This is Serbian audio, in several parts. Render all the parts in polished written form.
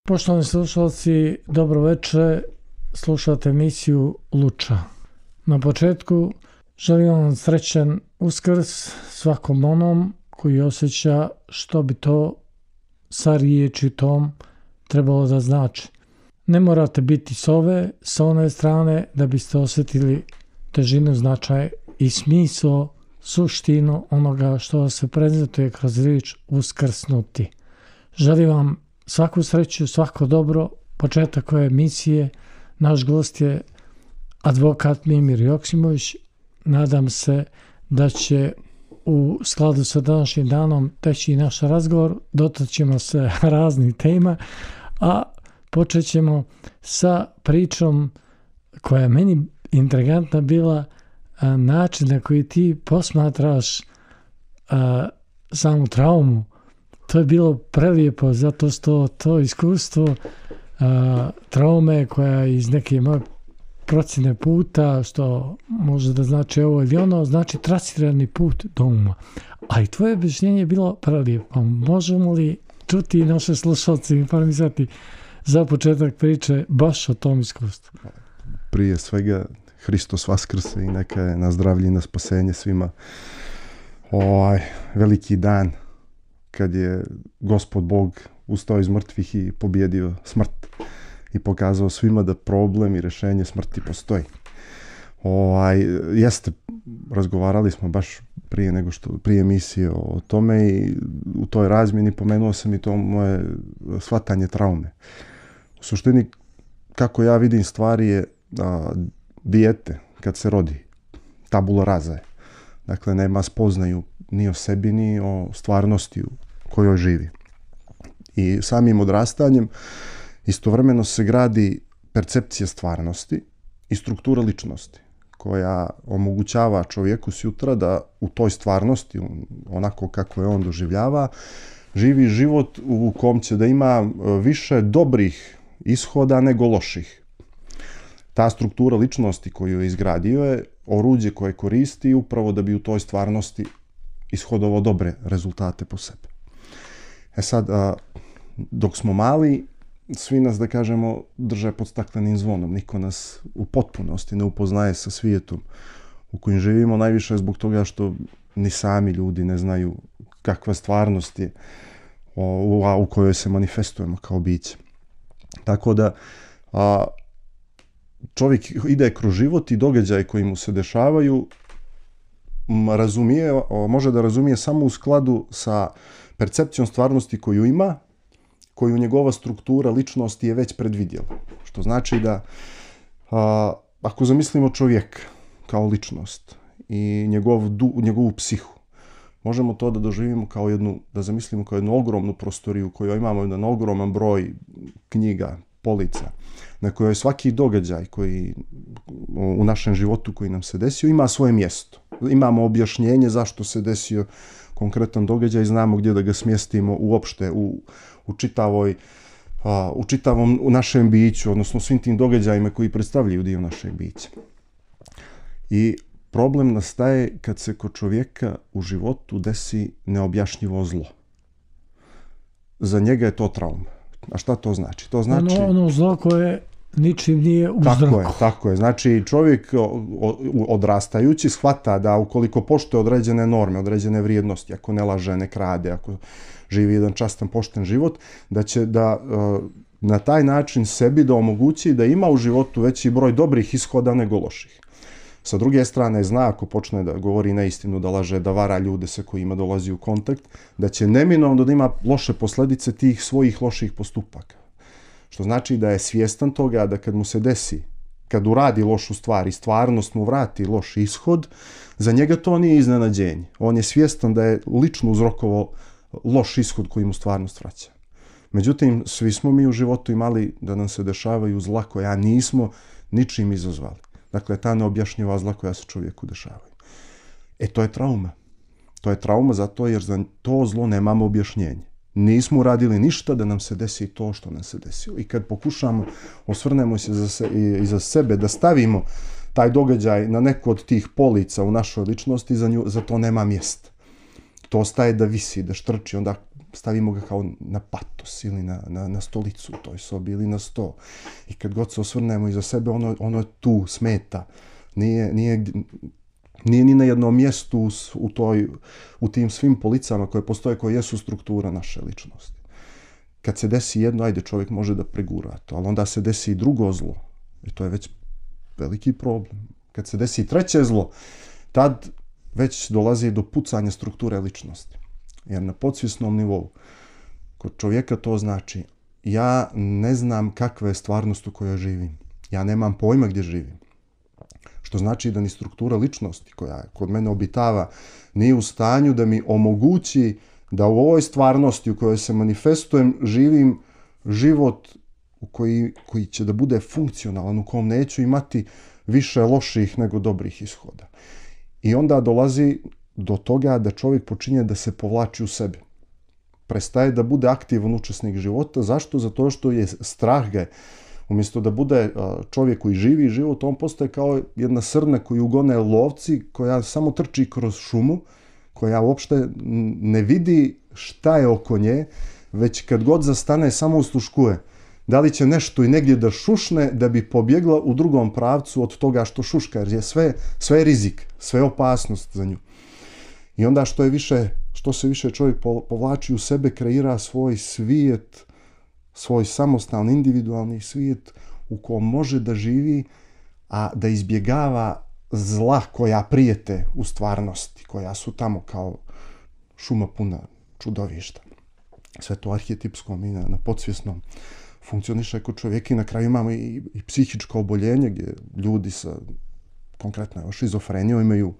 Poštovani slušalci, dobro večer, slušate emisiju Luča. Na početku želim vam srećan Uskrs svakom onom koji osjeća što bi to sa riječi tom trebalo da znači. Ne morate biti s one strane da biste osjetili težinu, značaj i smisao, suštinu onoga što se prezentuje kroz riječ uskrsnuti. Želim vam svaku sreću, svako dobro, početak ove emisije. Naš gost je advokat Mimir Joksimović. Nadam se da će u skladu sa današnjim danom teći naš razgovor. Dotaćemo se raznih tema, a počet ćemo sa pričom koja je meni intrigantna bila, način na koji ti posmatraš samu traumu. To je bilo prelijepo zato što to iskustvo traume koja iz neke moje procjene puta, što može da znači ovo ili ono, znači trasirani put do uma. A i tvoje objašnjenje je bilo prelijepo. Možemo li čuti naše slušalce i informisati za početak priče baš o tom iskustvu? Prije svega, Hristos vaskrse i neka je na zdravlje i na spasenje svima. Veliki dan kad je Gospod Bog ustao iz mrtvih i pobjedio smrt i pokazao svima da problem i rješenje smrti postoji. Jeste, razgovarali smo baš prije emisije o tome i u toj razmjeni pomenuo sam i to moje shvatanje traume. U suštini, kako ja vidim stvari je dijete kad se rodi, tabula rasa je. Dakle, nema spoznaju ni o sebi, ni o stvarnosti u kojoj živi. I samim odrastanjem istovremeno se gradi percepcija stvarnosti i struktura ličnosti koja omogućava čovjeku sutra da u toj stvarnosti, onako kako je on doživljava, živi život u kom će da ima više dobrih ishoda nego loših. Ta struktura ličnosti koju je izgradio je oruđe koje koristi upravo da bi u toj stvarnosti ishodovao dobre rezultate po sebi. Sad, dok smo mali, svi nas, da kažemo, drže pod staklenim zvonom. Niko nas u potpunosti ne upoznaje sa svijetom u kojem živimo, najviše zbog toga što ni sami ljudi ne znaju kakva stvarnost je u kojoj se manifestujemo kao biće. Tako da čovjek ide kroz život i događaje koji mu se dešavaju može da razumije samo u skladu sa percepcijom stvarnosti koju ima, koju njegova struktura ličnosti je već predvidjela. Što znači da ako zamislimo čovjeka kao ličnost i njegovu psihu, možemo to da doživimo da zamislimo kao jednu ogromnu prostoriju u kojoj imamo jedan ogroman broj knjiga, polica, na kojoj svaki događaj koji u našem životu koji nam se desio ima svoje mjesto. Imamo objašnjenje zašto se desio konkretan događaj, znamo gdje da ga smjestimo uopšte u čitavom našem biću, odnosno svim tim događajima koji predstavljaju dio našeg bića. I problem nastaje kad se kod čovjeka u životu desi neobjašnjivo zlo. Za njega je to trauma. A šta to znači? To znači ono zlo koje ničim nije uzrokovano. Tako je. Znači, čovjek odrastajući shvata da ukoliko poštuje određene norme, određene vrijednosti, ako ne laže, ne krade, ako živi jedan častan, pošten život, da će na taj način sebi da omogući da ima u životu veći broj dobrih ishoda nego loših. Sa druge strane, zna ako počne da govori neistinu, da laže, da vara ljude sa kojima dolazi u kontakt, da će neminovno da ima loše posljedice tih svojih loših postupaka. Što znači da je svjestan toga da kad mu se desi, kad uradi lošu stvar i stvarnost mu vrati loš ishod, za njega to nije iznenađenje. On je svjestan da je lično uzrokovao loš ishod koji mu stvarnost vraća. Međutim, svi smo mi u životu imali da nam se dešavaju zla koja nismo ničim izazvali. Dakle, ta neobjašnjiva zla koja se čovjeku dešavaju. To je trauma. To je trauma zato jer za to zlo nemamo objašnjenje. Nismo uradili ništa da nam se desi to što nam se desilo. I kad pokušamo, osvrnemo se iza sebe, da stavimo taj događaj na neku od tih polica u našoj ličnosti, za to nema mjesta. To ostaje da visi, da štrči, onda stavimo ga kao na patos ili na stolicu u toj sobi ili na sto. I kad god se osvrnemo iza sebe, ono je tu, smeta. Nije ni na jednom mjestu u tim svim policama koje postoje, koje jesu struktura naše ličnosti. Kad se desi jedno, ajde, čovjek može da pregura to, ali onda se desi i drugo zlo. I to je već veliki problem. Kad se desi i treće zlo, tad već dolazi do pucanja strukture ličnosti. Jer na podsvjesnom nivou, kod čovjeka to znači, ja ne znam kakva je stvarnost u kojoj živim. Ja nemam pojma gdje živim. Što znači da ni struktura ličnosti koja kod mene obitava nije u stanju da mi omogući da u ovoj stvarnosti u kojoj se manifestujem živim život koji će da bude funkcionalan, u kom neću imati više loših nego dobrih ishoda. I onda dolazi do toga da čovjek počinje da se povlači u sebe. Prestaje da bude aktivan učesnik života. Zašto? Zato što je strah ga. Umjesto da bude čovjek koji živi život, on postaje kao jedna srna koju gone lovci, koja samo trči kroz šumu, koja uopšte ne vidi šta je oko nje, već kad god zastane samo usluškuje. Da li će nešto i negdje da šušne da bi pobjegla u drugom pravcu od toga što šuška, jer je sve je rizik, sve je opasnost za nju. I onda što se više čovjek povlači u sebe, kreira svoj svijet, svoj samostalni, individualni svijet u kom može da živi, a da izbjegava zla koja prijete u stvarnosti, koja su tamo kao šuma puna čudovišta. Sve to arhetipskom i na podsvjesnom funkcioniše kod čovjeka i na kraju imamo i psihičko oboljenje gdje ljudi sa konkretno šizofrenijom imaju,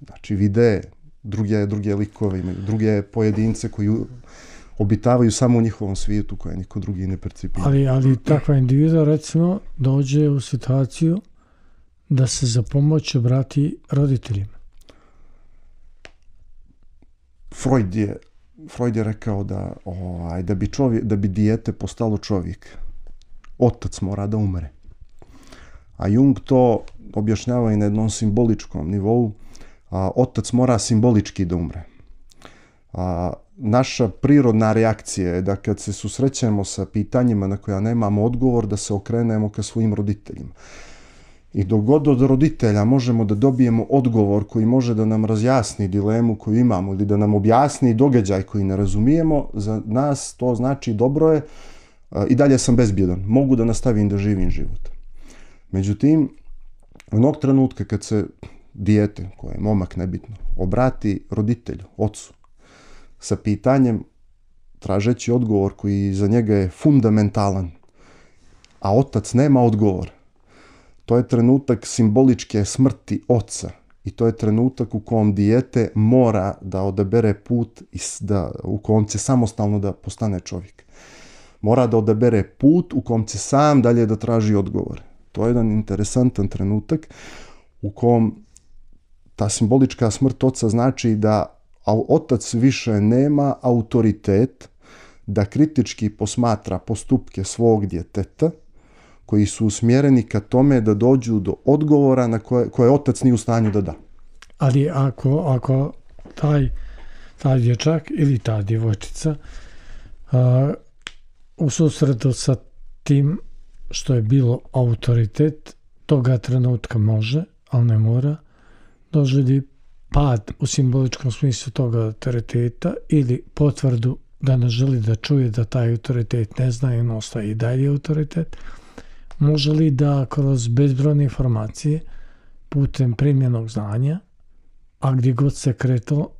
znači vide druge likove, imaju druge pojedince koji obitavaju samo u njihovom svijetu koje niko drugi ne percipira. Ali takva individua recimo dođe u situaciju da se za pomoć obrati roditeljima. Freud je rekao da bi dijete postalo čovjek, otac mora da umre. A Jung to objašnjava i na jednom simboličkom nivou. Otac mora simbolički da umre. Naša prirodna reakcija je da kad se susrećemo sa pitanjima na koja nemamo odgovor, da se okrenemo ka svojim roditeljima. I dok god od roditelja možemo da dobijemo odgovor koji može da nam razjasni dilemu koju imamo ili da nam objasni događaj koji ne razumijemo, za nas to znači dobro je, i dalje sam bezbjedan, mogu da nastavim da živim život. Međutim, onog trenutka kad se dijete, koje je momak nebitno, obrati roditelju, ocu, sa pitanjem, tražeći odgovor koji za njega je fundamentalan, a otac nema odgovor, to je trenutak simboličke smrti oca i to je trenutak u kom dijete mora da odabere put u kom će samostalno da postane čovjek. Mora da odabere put u kom će sam dalje da traži odgovor. To je jedan interesantan trenutak u kom ta simbolička smrt oca znači da otac više nema autoritet da kritički posmatra postupke svog djeteta koji su usmjereni ka tome da dođu do odgovora na koje otac nije u stanju da da. Ali ako taj dječak ili ta djevojčica u susretu sa tim što je bilo autoritet, toga trenutka može, ali ne mora, doživlji pad u simboličkom smislu toga autoriteta ili potvrdu da ne želi da čuje da taj autoritet ne zna i on ostaje i dalje autoritet, može li da kroz bezbrojne informacije putem primjenog znanja, a gdje god se kretalo,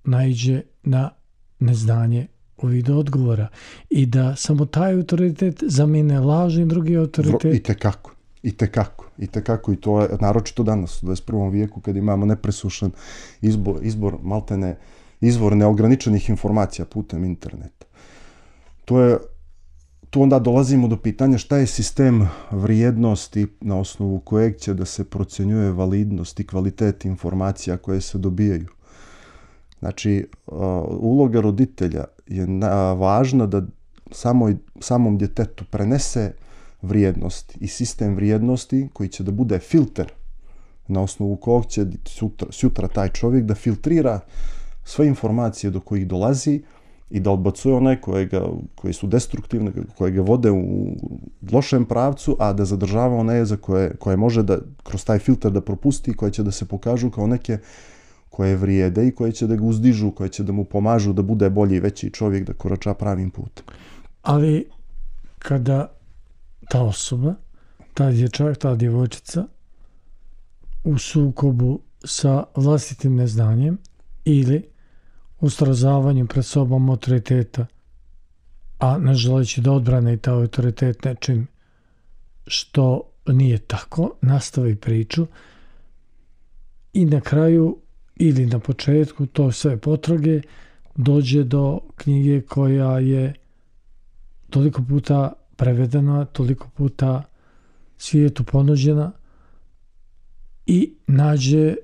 naiđe na neznanje u vidu odgovora i da samo taj autoritet zamijene lažni drugi autoritet? I tekako i to je naročito danas u 21. vijeku kad imamo nepresušan izbor maltene izvor neograničenih informacija putem interneta. Tu onda dolazimo do pitanja šta je sistem vrijednosti na osnovu kojeg će da se procjenjuje validnost i kvalitet informacija koje se dobijaju. Znači, uloga roditelja je važna da samom djetetu prenese vrijednosti i sistem vrijednosti koji će da bude filter na osnovu kojeg će sutra taj čovjek da filtrira sve informacije do kojih dolazi i da odbacuje one koji su destruktivne, koje ga vode u lošem pravcu, a da zadržava one za koje može da kroz taj filter da propusti, koje će da se pokažu kao neke koje vrijede i koje će da ga uzdižu, koje će da mu pomažu da bude bolji i veći čovjek, da korača pravim putem. Ali kada ta osoba, ta dječak, ta djevojčica u sukobu sa vlastitim neznanjem ili u srozavanju pred sobom autoriteta, a ne želeći da odbrane i taj autoritet nečim što nije tako, nastavi priču i na kraju ili na početku to sve potrage dođe do knjige koja je toliko puta prevedena, toliko puta svijetu ponuđena i nađe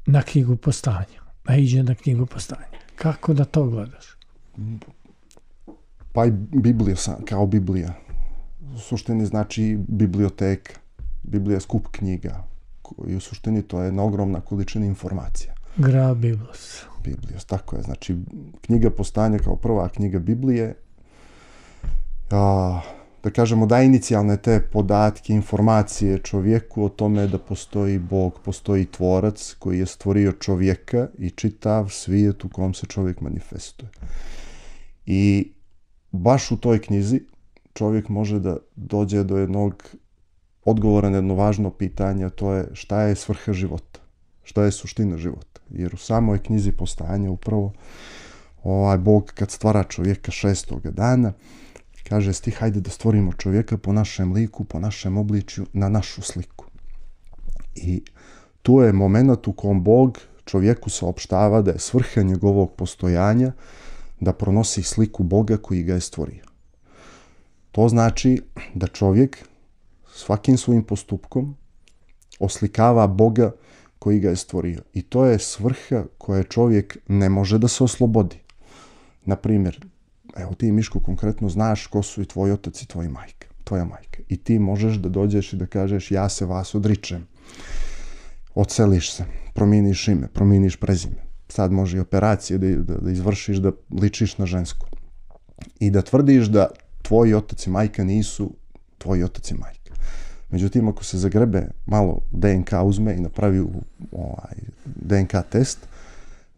na knjigu postanja. Naiđe na knjigu postanja. Kako da to gledaš? Pa i Biblija kao Biblija. U suštini znači biblioteka. Biblija je skup knjiga. I u suštini to je jedna ogromna količina informacija. Gra Biblos. Biblijos, tako je. Znači, knjiga postanja kao prva knjiga Biblije, da kažemo, daje inicijalne te podatke, informacije čovjeku o tome da postoji Bog, postoji tvorac koji je stvorio čovjeka i čitav svijet u kom se čovjek manifestuje. I baš u toj knjizi čovjek može da dođe do jednog odgovora na jedno važno pitanje, a to je šta je svrha života, šta je suština života. Jer u samoj knjizi postanja upravo Bog kad stvara čovjeka 6. dana, kaže stih, hajde da stvorimo čovjeka po našem liku, po našem obličju, na našu sliku. I tu je moment u kom Bog čovjeku saopštava da je svrha njegovog postojanja da pronosi sliku Boga koji ga je stvorio. To znači da čovjek svakim svojim postupkom oslikava Boga koji ga je stvorio. I to je svrha koje čovjek ne može da se oslobodi. Naprimjer, evo ti, Miško, konkretno znaš ko su i tvoj otac i tvoja majka. I ti možeš da dođeš i da kažeš ja se vas odričem. Odseliš se, promijeniš ime, promijeniš prezime. Sad može i operacije da izvršiš da ličiš na žensku. I da tvrdiš da tvoji otac i majka nisu tvoji otac i majka. Međutim, ako se zagrebe malo DNK uzme i napravi DNK test,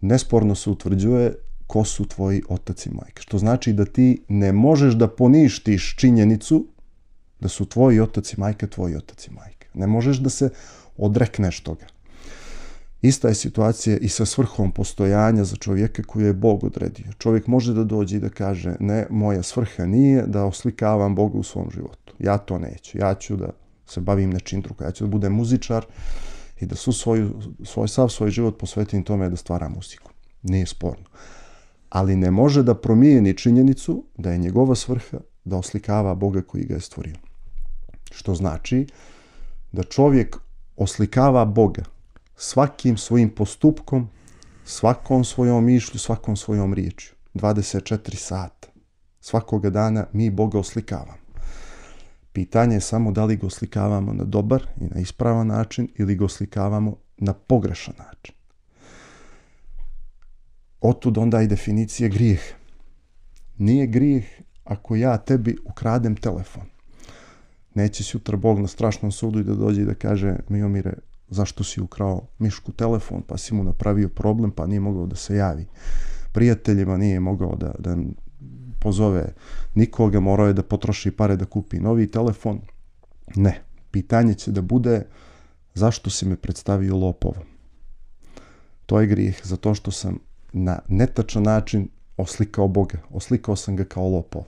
nesporno se utvrđuje ko su tvoji otac i majka. Što znači da ti ne možeš da poništiš činjenicu da su tvoji otac i majka tvoji otac i majka. Ne možeš da se odrekneš toga. Ista je situacija i sa svrhom postojanja za čovjeka koju je Bog odredio. Čovjek može da dođe i da kaže, ne, moja svrha nije da oslikavam Boga u svom životu. Ja to neću. Ja ću da se bavim nečim drugim. Ja ću da budem muzičar i da sav svoj život posvetim tome da stvaram muziku. Nije sporno. Ali ne može da promijeni činjenicu da je njegova svrha da oslikava Boga koji ga je stvorio. Što znači da čovjek oslikava Boga svakim svojim postupkom, svakom svojom mišlju, svakom svojom riječju. 24 sata. Svakoga dana mi Boga oslikavamo. Pitanje je samo da li ga oslikavamo na dobar i na ispravan način ili ga oslikavamo na pogrešan način. Otud onda i definicije grijeh. Nije grijeh ako ja tebi ukradem telefon. Neće sutra Bog na strašnom sudu i da dođe i da kaže, Miomire, zašto si ukrao Mišku telefon, pa si mu napravio problem, pa nije mogao da se javi prijateljima, nije mogao da pozove nikoga, morao je da potroši pare da kupi novi telefon. Ne. Pitanje će da bude zašto si me predstavio lopovom. To je grijeh, zato što sam na netačan način oslikao Boga. Oslikao sam ga kao lopov.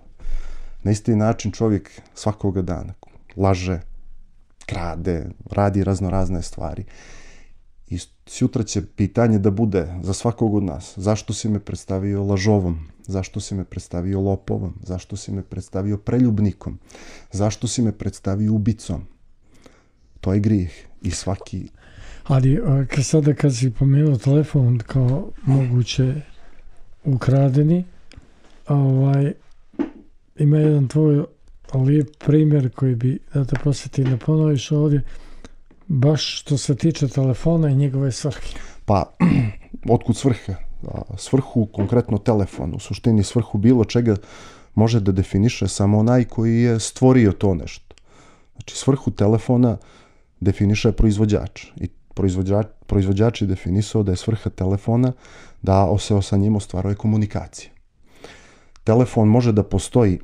Na isti način čovjek svakoga dana laže, krade, radi raznorazne stvari. I sutra će pitanje da bude za svakog od nas. Zašto si me predstavio lažovom? Zašto si me predstavio lopovom? Zašto si me predstavio preljubnikom? Zašto si me predstavio ubicom? To je grijeh. I svaki... Ali sada kad si pomenuo telefon kao moguće ukradeni, ima jedan tvoj lijep primjer koji bi da te posjeti da ponoviš ovdje, baš što se tiče telefona i njegove svrhe. Pa, otkud svrha? Svrhu, konkretno telefon, u suštini svrhu bilo čega može da definiše samo onaj koji je stvorio to nešto. Znači, svrhu telefona definiše proizvođač. I proizvođač je definisao da je svrha telefona da se sa njim ostvaruje komunikacija. Telefon može da postoji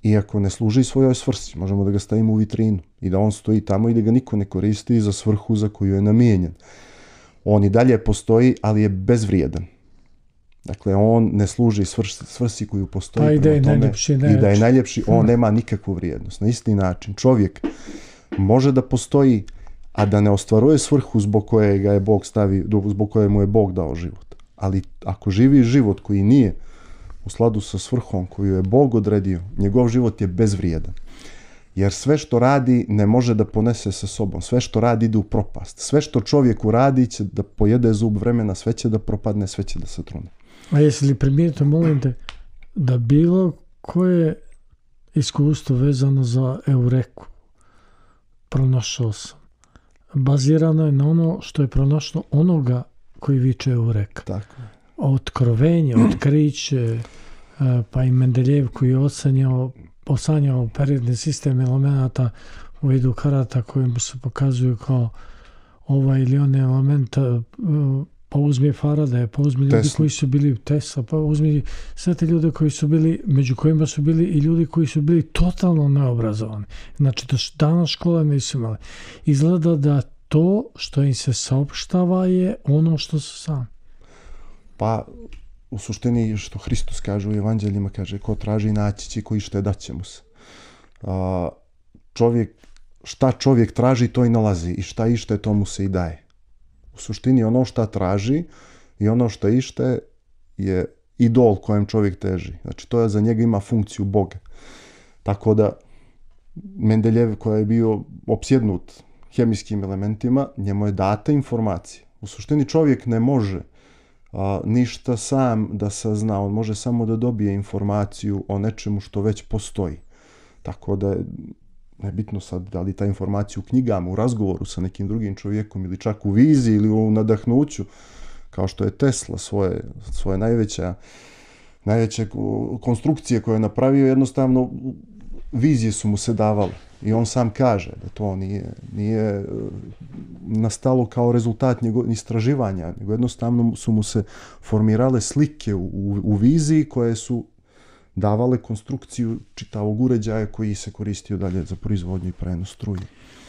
iako ne služi svojoj svrsi. Možemo da ga stavimo u vitrinu i da on stoji tamo i da ga niko ne koristi za svrhu za koju je namijenjen. On i dalje postoji, ali je bezvrijedan. Dakle, on ne služi svrsi koju postoji. Pa i da je najljepši. I da je najljepši, on nema nikakvu vrijednost. Na isti način, čovjek može da postoji, a da ne ostvaruje svrhu zbog koje ga je Bog zbog koje mu je Bog dao život. Ali ako živi život koji nije u skladu sa svrhom koju je Bog odredio, njegov život je bezvrijedan. Jer sve što radi ne može da ponese sa sobom. Sve što radi ide u propast. Sve što čovjek uradi će da pojede zub vremena, sve će da propadne, sve će da se trune. A jesi li primijetio, molim te, da bilo koje iskustvo vezano za Eureku pronašao sam? Bazirano je na ono što je pronašlo onoga koji viče Eureka. Tako. Otkrovenje, otkriće, pa i Mendeljev koji je osanjao periodni sistem elemenata u vidu karata kojim se pokazuju kao ovaj ili onaj element, pa uzmi Faradaja, pa uzmi ljudi koji su bili Tesla, pa uzmi sve te ljude koji su bili, među kojima su bili i ljudi koji su bili totalno neobrazovani. Znači, danas škole nisu imali. Izgleda da to što im se saopštava je ono što su sami. Pa, u suštini što Hristos kaže u evanđeljima, kaže, ko traži naći će, ko ište daće mu se. Šta čovjek traži, to i nalazi, i šta ište, to mu se i daje. U suštini ono šta traži i ono što ište je idol kojem čovjek teži. Znači, to je za njega ima funkciju Boga. Tako da Mendeljev, koji je bio opsjednut hemijskim elementima, njemu je data informacija. U suštini čovjek ne može ništa sam da sazna, on može samo da dobije informaciju o nečemu što već postoji. Tako da je nebitno sad da li ta informacija u knjigama, u razgovoru sa nekim drugim čovjekom ili čak u viziji ili u nadahnuću, kao što je Tesla svoje najveće konstrukcije koje je napravio, jednostavno vizije su mu se davale. I on sam kaže da to nije nastalo kao rezultat njegovog istraživanja, nego jednostavno su mu se formirale slike u viziji koje su davale konstrukciju čitavog uređaja koji se koristio dalje za proizvodnju i prenos struje.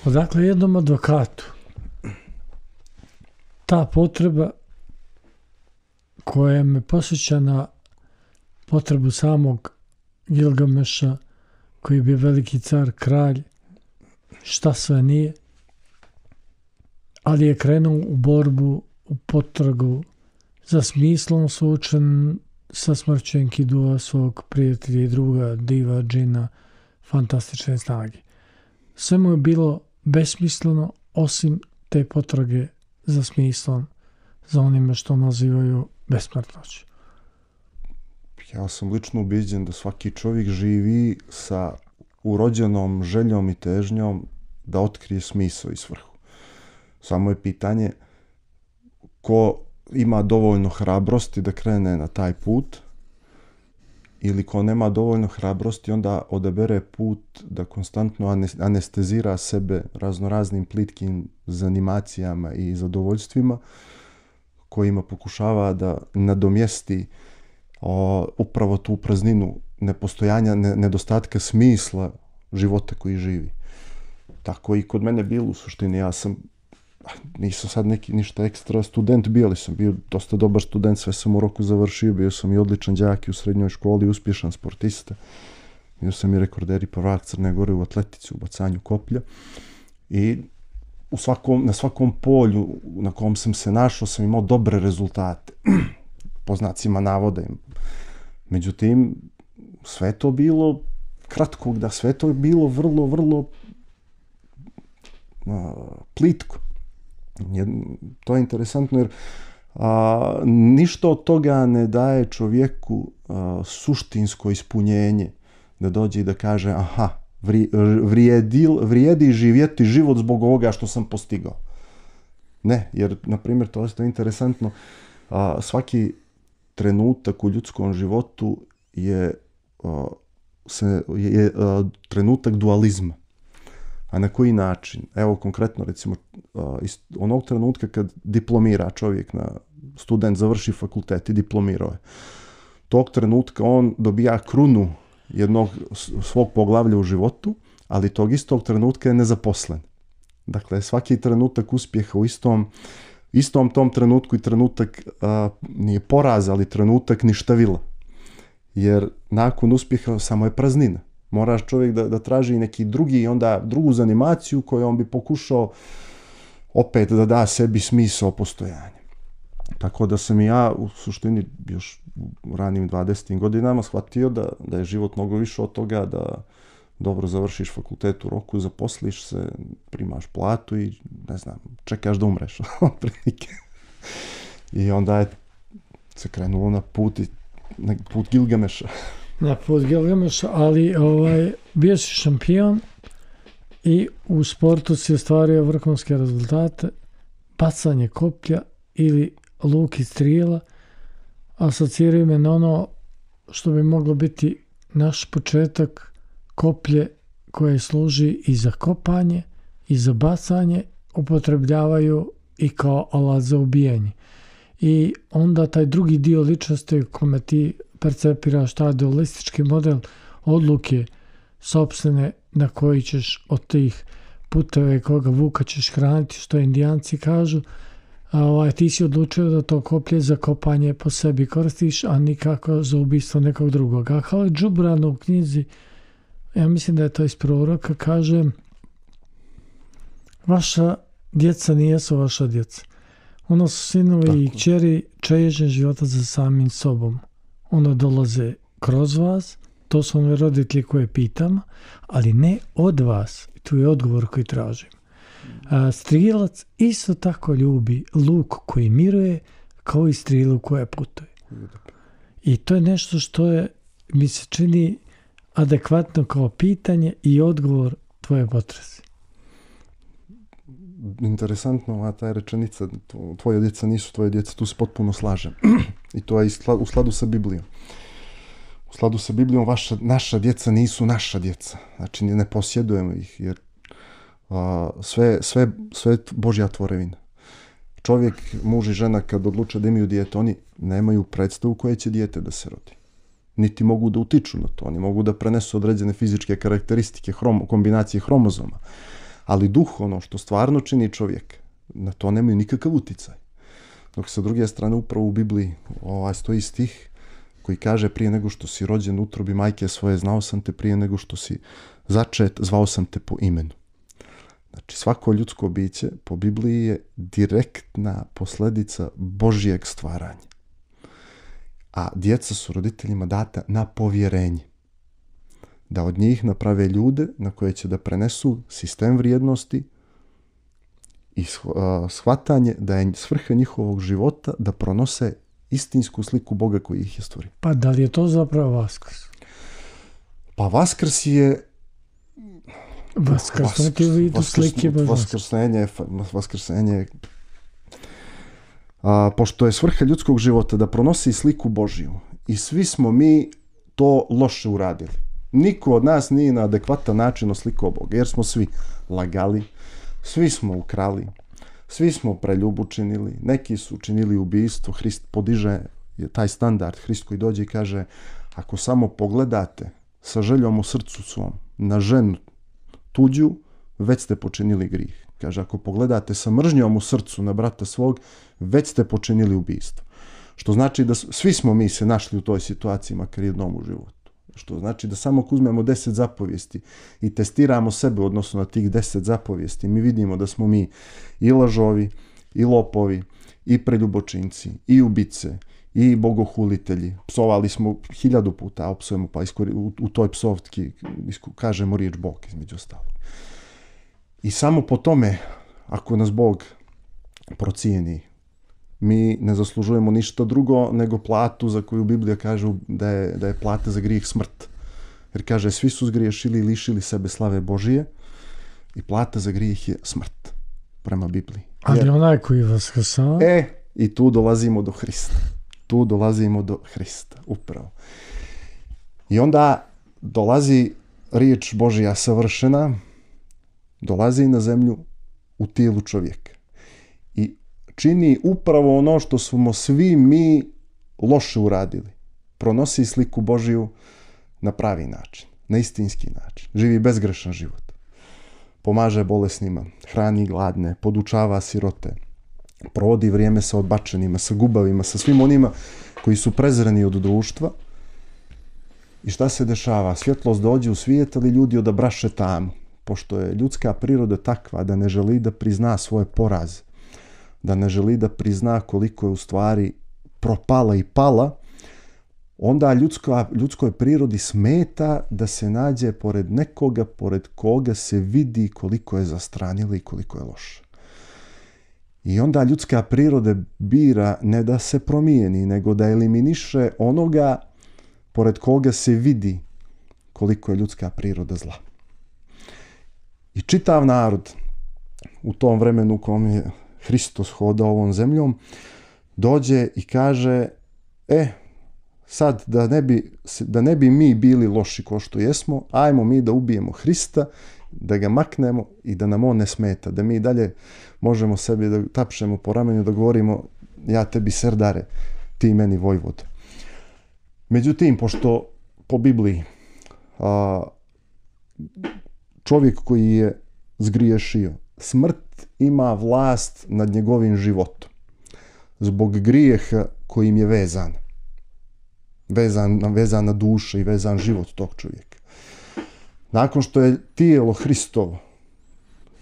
Odakle jednom advokatu ta potreba koja me posjeća na potrebu samog Gilgameša, koji je bio veliki car, kralj, šta sve nije, ali je krenuo u borbu, u potragu za smislom, suočen sa smrću Enkidua, svog prijatelja i druga, diva, džina, fantastične snage. Sve mu je bilo besmisleno, osim te potrage za smislom, za onime što nazivaju besmrtnoću. Ja sam lično ubiđen da svaki čovjek živi sa urođenom željom i težnjom da otkrije smisao i svrhu. Samo je pitanje ko ima dovoljno hrabrosti da krene na taj put ili ko nema dovoljno hrabrosti onda odabere put da konstantno anestezira sebe raznoraznim plitkim zanimacijama i zadovoljstvima kojima pokušava da nadomjesti upravo tu prazninu nepostojanja, nedostatka smisla života koji živi. Tako i kod mene bilo u suštini. Ja nisam sad ništa ekstra student bio, ali sam bio dosta dobar student, sve sam u roku završio, bio sam i odličan đak i u srednjoj školi, uspješan sportista. Bio sam i rekorder i prvak Crne Gore u atletici, u bacanju koplja. I na svakom polju na kom sam se našao sam imao dobre rezultate. Po znacima navoda. Međutim, sve to bilo kratkog, da sve to bilo vrlo, vrlo plitko. To je interesantno jer ništa od toga ne daje čovjeku suštinsko ispunjenje da dođe i da kaže aha, vrijedi živjeti život zbog ovoga što sam postigao. Ne, jer, na primjer, to je interesantno, svaki trenutak u ljudskom životu je trenutak dualizma. A na koji način? Evo konkretno recimo onog trenutka kad diplomira čovjek, student završi fakultet i diplomirao je. Tog trenutka on dobija krunu jednog svog poglavlja u životu, ali tog istog trenutka je nezaposlen. Dakle, svaki trenutak uspjeha u istom tom trenutku i trenutak nije poraz, ali trenutak ništavila. Jer nakon uspjeha samo je praznina. Moraš čovjek da traži neki drugu zanimaciju koju on bi pokušao opet da da sebi smisao postojanja. Tako da sam i ja u suštini još u ranim 20. godinama shvatio da je život mnogo više od toga, da dobro završiš fakultet u roku, zaposliš se, primaš platu i ne znam, čekaš da umreš. I onda je se krenulo na put Gilgameša. Na put Gilgameša, ali bio si šampion i u sportu si ostvario vrhunske rezultate, bacanje koplja ili luk i strijela, asociraju me na ono što bi moglo biti naš početak, koplje koje služi i za kopanje i za bacanje, upotrebljavaju i kao alat za ubijanje. I onda taj drugi dio ličnosti kome ti percepiraš taj dualistički model odluke sopstvene na koji ćeš od tih puteve koga vuka ćeš hraniti, što Indijanci kažu, ti si odlučio da to koplje za kopanje po sebi koristiš, a nikako za ubistvo nekog drugog. A Halil Džubran u knjizi, ja mislim da je to iz proroka, kaže vaša djeca nijesu vaša djeca. Ono su sinovi i kćeri čežnje života za samim sobom. Ono dolaze kroz vas, to su oni roditelji koje pitam, ali ne od vas. Tu je odgovor koji tražim. Strilac isto tako ljubi luk koji miruje kao i strilu koja putuje. I to je nešto što mi se čini adekvatno kao pitanje i odgovor tvoje potrese. Interesantno, ta je rečenica, tvoje djeca nisu tvoje djeca, tu se potpuno slažem. I to je u skladu sa Biblijom. U skladu sa Biblijom naša djeca nisu naša djeca. Znači ne posjedujemo ih, jer sve Božja tvorevina. Čovjek, muž i žena kad odluče da imaju dijete, oni nemaju predstavu koje će dijete da se rodi. Niti mogu da utiču na to. Oni mogu da prenesu određene fizičke karakteristike, kombinacije hromozoma. Ali duh, ono što stvarno čini čovjek, na to nemaju nikakav uticaj. Dok sa druge strane upravo u Bibliji stoji stih koji kaže prije nego što si rođen u utrobi majke svoje, znao sam te, prije nego što si začet, zvao sam te po imenu. Znači svako ljudsko biće po Bibliji je direktna posljedica Božjeg stvaranja. A djeca su roditeljima data na povjerenje. Da od njih naprave ljude na koje će da prenesu sistem vrijednosti i shvatanje da je svrha njihovog života da pronose istinsku sliku Boga koji ih je stvorio. Pa da li je to zapravo Vaskrs? Pa Vaskrs je Vaskrsenje pošto je svrha ljudskog života da pronosi sliku Božju i svi smo mi to loše uradili. Niko od nas nije na adekvatan način oslikao Boga, jer smo svi lagali, svi smo ukrali, svi smo preljubu činili, neki su činili ubistvo. Hrist podiže taj standard, Hrist koji dođe i kaže, ako samo pogledate sa željom u srcu svom na ženu tuđu, već ste počinili grih. Kaže, ako pogledate sa mržnjom u srcu na brata svog, već ste počinili ubistvo. Što znači da svi smo mi se našli u toj situaciji, makar jednom u životu. Što znači da samo ako uzmemo 10 zapovijesti i testiramo sebe u odnosu na tih 10 zapovijesti, mi vidimo da smo mi i lažovi, i lopovi, i preljubočinci, i ubice, i bogohulitelji. Psovali smo 1000 puta, a opsujemo pa u toj psovki kažemo riječ Bog između ostalog. I samo po tome, ako nas Bog procijeni, mi ne zaslužujemo ništa drugo nego platu za koju Biblija kaže da je plata za grijeh smrt. Jer kaže, svi su zgriješili i lišili sebe slave Božije i plata za grijeh je smrt, prema Bibliji. Ali onaj koji vaskrsava? I tu dolazimo do Hrista. Tu dolazimo do Hrista, upravo. I onda dolazi riječ Božja savršena, dolazi na zemlju u tijelu čovjeka. I čini upravo ono što smo svi mi loše uradili. Pronosi sliku Božju na pravi način, na istinski način. Živi bezgrešan život. Pomaže bolesnima, hrani gladne, podučava sirote, provodi vrijeme sa odbačenima, sa gubavima, sa svim onima koji su prezreni od društva. I šta se dešava? Svjetlost dođe u svijet, ali ljudi odabraše tamu. Pošto je ljudska priroda takva da ne želi da prizna svoj poraz, da ne želi da prizna koliko je u stvari propala i pala, onda ljudskoj prirodi smeta da se nađe pored nekoga, pored koga se vidi koliko je zastranila i koliko je loša. I onda ljudska priroda bira ne da se promijeni, nego da eliminiše onoga pored koga se vidi koliko je ljudska priroda zla. I čitav narod u tom vremenu u kom je Hristos hodao ovom zemljom dođe i kaže sad da ne bi mi bili loši ko što jesmo, ajmo mi da ubijemo Hrista, da ga maknemo i da nam on ne smeta, da mi dalje možemo sebi da tapšemo po ramenju, da govorimo ja tebi serdare, ti meni vojvod. Međutim, pošto po Bibliji čovjek koji je zgriješio, smrt ima vlast nad njegovim životom zbog grijeha kojim je vezan na dušu i vezan život tog čovjeka. Nakon što je tijelo Hristovo,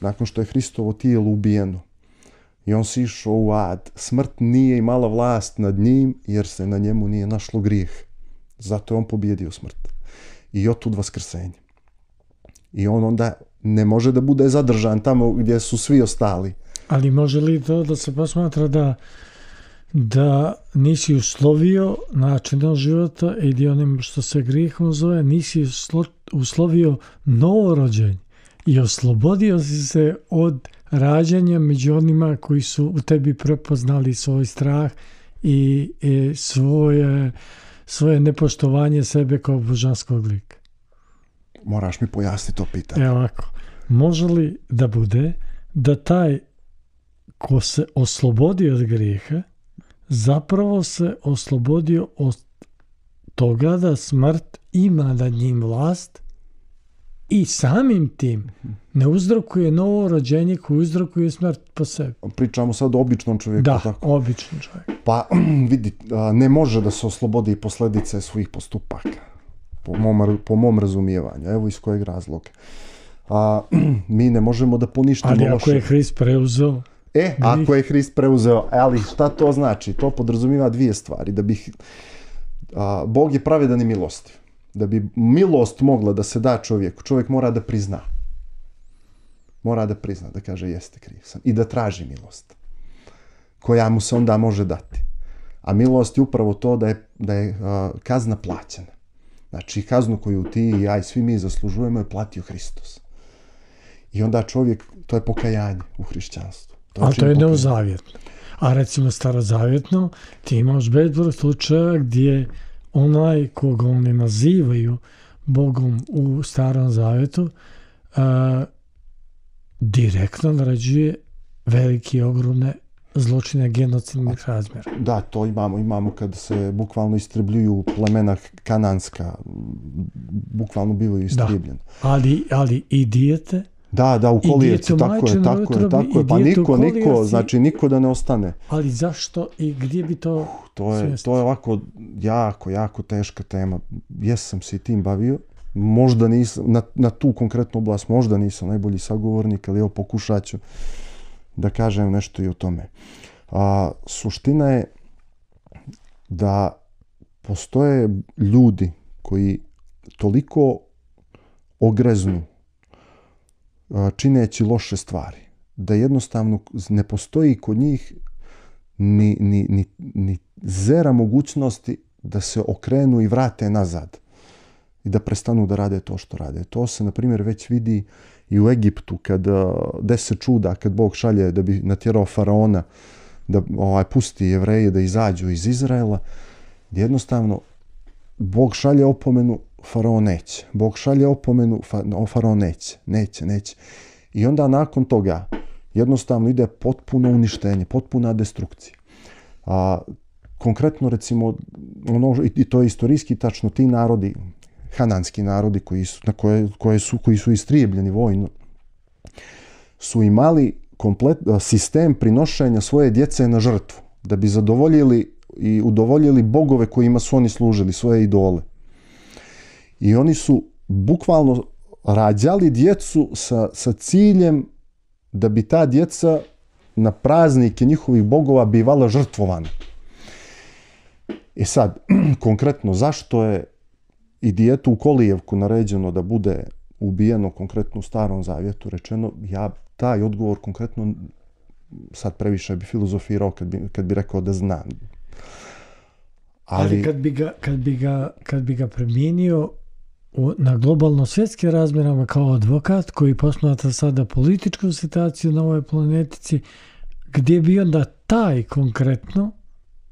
nakon što je Hristovo tijelo ubijeno i on si išao u ad, smrt nije imala vlast nad njim jer se na njemu nije našlo grijeh. Zato je on pobjedio smrt. I otud vaskrsenje. I on onda ne može da bude zadržan tamo gdje su svi ostali. Ali može li to da se posmatra da nisi uslovio načinom života i onim što se grijehom zove, nisi uslovio novorođenje i oslobodio si se od rađanja među onima koji su u tebi prepoznali svoj strah i svoje nepoštovanje sebe kao božanskog lika. Moraš mi pojasniti to pitanje. Evo ovako, može li da bude da taj ko se oslobodio od grijeha zapravo se oslobodio od toga da smrt ima nad njim vlast i samim tim ne uzrokuje novo rođenje koje uzrokuje smrt po sebi. Pričamo sad o običnom čovjeku. Da, tako? Običnom čovjeku. Pa vidi, ne može da se oslobodi posljedice svojih postupaka. Po mom razumijevanju. Evo iz kojeg razloga. Mi ne možemo da poništimo loše. Ali ako je Hrist preuzeo? Ako je Hrist preuzeo, ali šta to znači? To podrazumijeva dvije stvari. Da bih, Bog je pravedan i milostiv. Da bi milost mogla da se da čovjeku, čovjek mora da prizna. Mora da prizna, da kaže jeste kriv sam. I da traži milost. Koja mu se onda može dati. A milost je upravo to da je kazna plaćena. Znači kaznu koju ti i ja i svi mi zaslužujemo je platio Hristos. I onda čovjek, to je pokajanje u hrišćanstvu. Ali to je neozavjetno. A recimo starozavjetno, ti imaš bezbroj slučaja gdje onaj koga oni nazivaju Bogom u starom zavjetu direktno naređuje velike, ogromne zločine genocidnih razmjera. Da, to imamo kad se bukvalno istrebljuju plemena kananska, bukvalno bivaju istrebljeni. Ali i dijete? Da, u kolijevci, tako je. Pa niko da ne ostane. Ali zašto i gdje bi to To je ovako jako teška tema. Jesam se i tim bavio. Možda nisam, na tu konkretnu oblast možda nisam najbolji sagovornik, ali evo pokušat ću da kažem nešto i o tome. Suština je da postoje ljudi koji toliko ogreznu čineći loše stvari, da jednostavno ne postoji kod njih ni zera mogućnosti da se okrenu i vrate nazad i da prestanu da rade to što rade. To se, na primjer, već vidi i u Egiptu, kad 10 čuda, kad Bog šalje da bi natjerao faraona da pusti Jevreje da izađu iz Izraela, jednostavno Bog šalje opomenu, faraon neće. Bog šalje opomenu, faraon neće. I onda nakon toga jednostavno ide potpuno uništenje, potpuna destrukcija. Konkretno, recimo, i to je istorijski tačno, ti narodi, hananski narodi koji su istrijebljeni vojno, su imali sistem prinošenja svoje djece na žrtvu, da bi zadovoljili i udovoljili bogove kojima su oni služili, svoje idole. I oni su bukvalno rađali djecu sa ciljem da bi ta djeca na praznike njihovih bogova bivala žrtvovana. I sad, konkretno, zašto je i djetu u Kolijevku naređeno da bude ubijeno, konkretno u Starom Zavjetu rečeno, ja taj odgovor konkretno sad previše bi filozofirao kad bi rekao da znam. Ali kad bi ga primijenio na globalno svjetske razmjerama kao advokat koji posmatra sada političku situaciju na ovoj planetici, gdje bi onda taj konkretno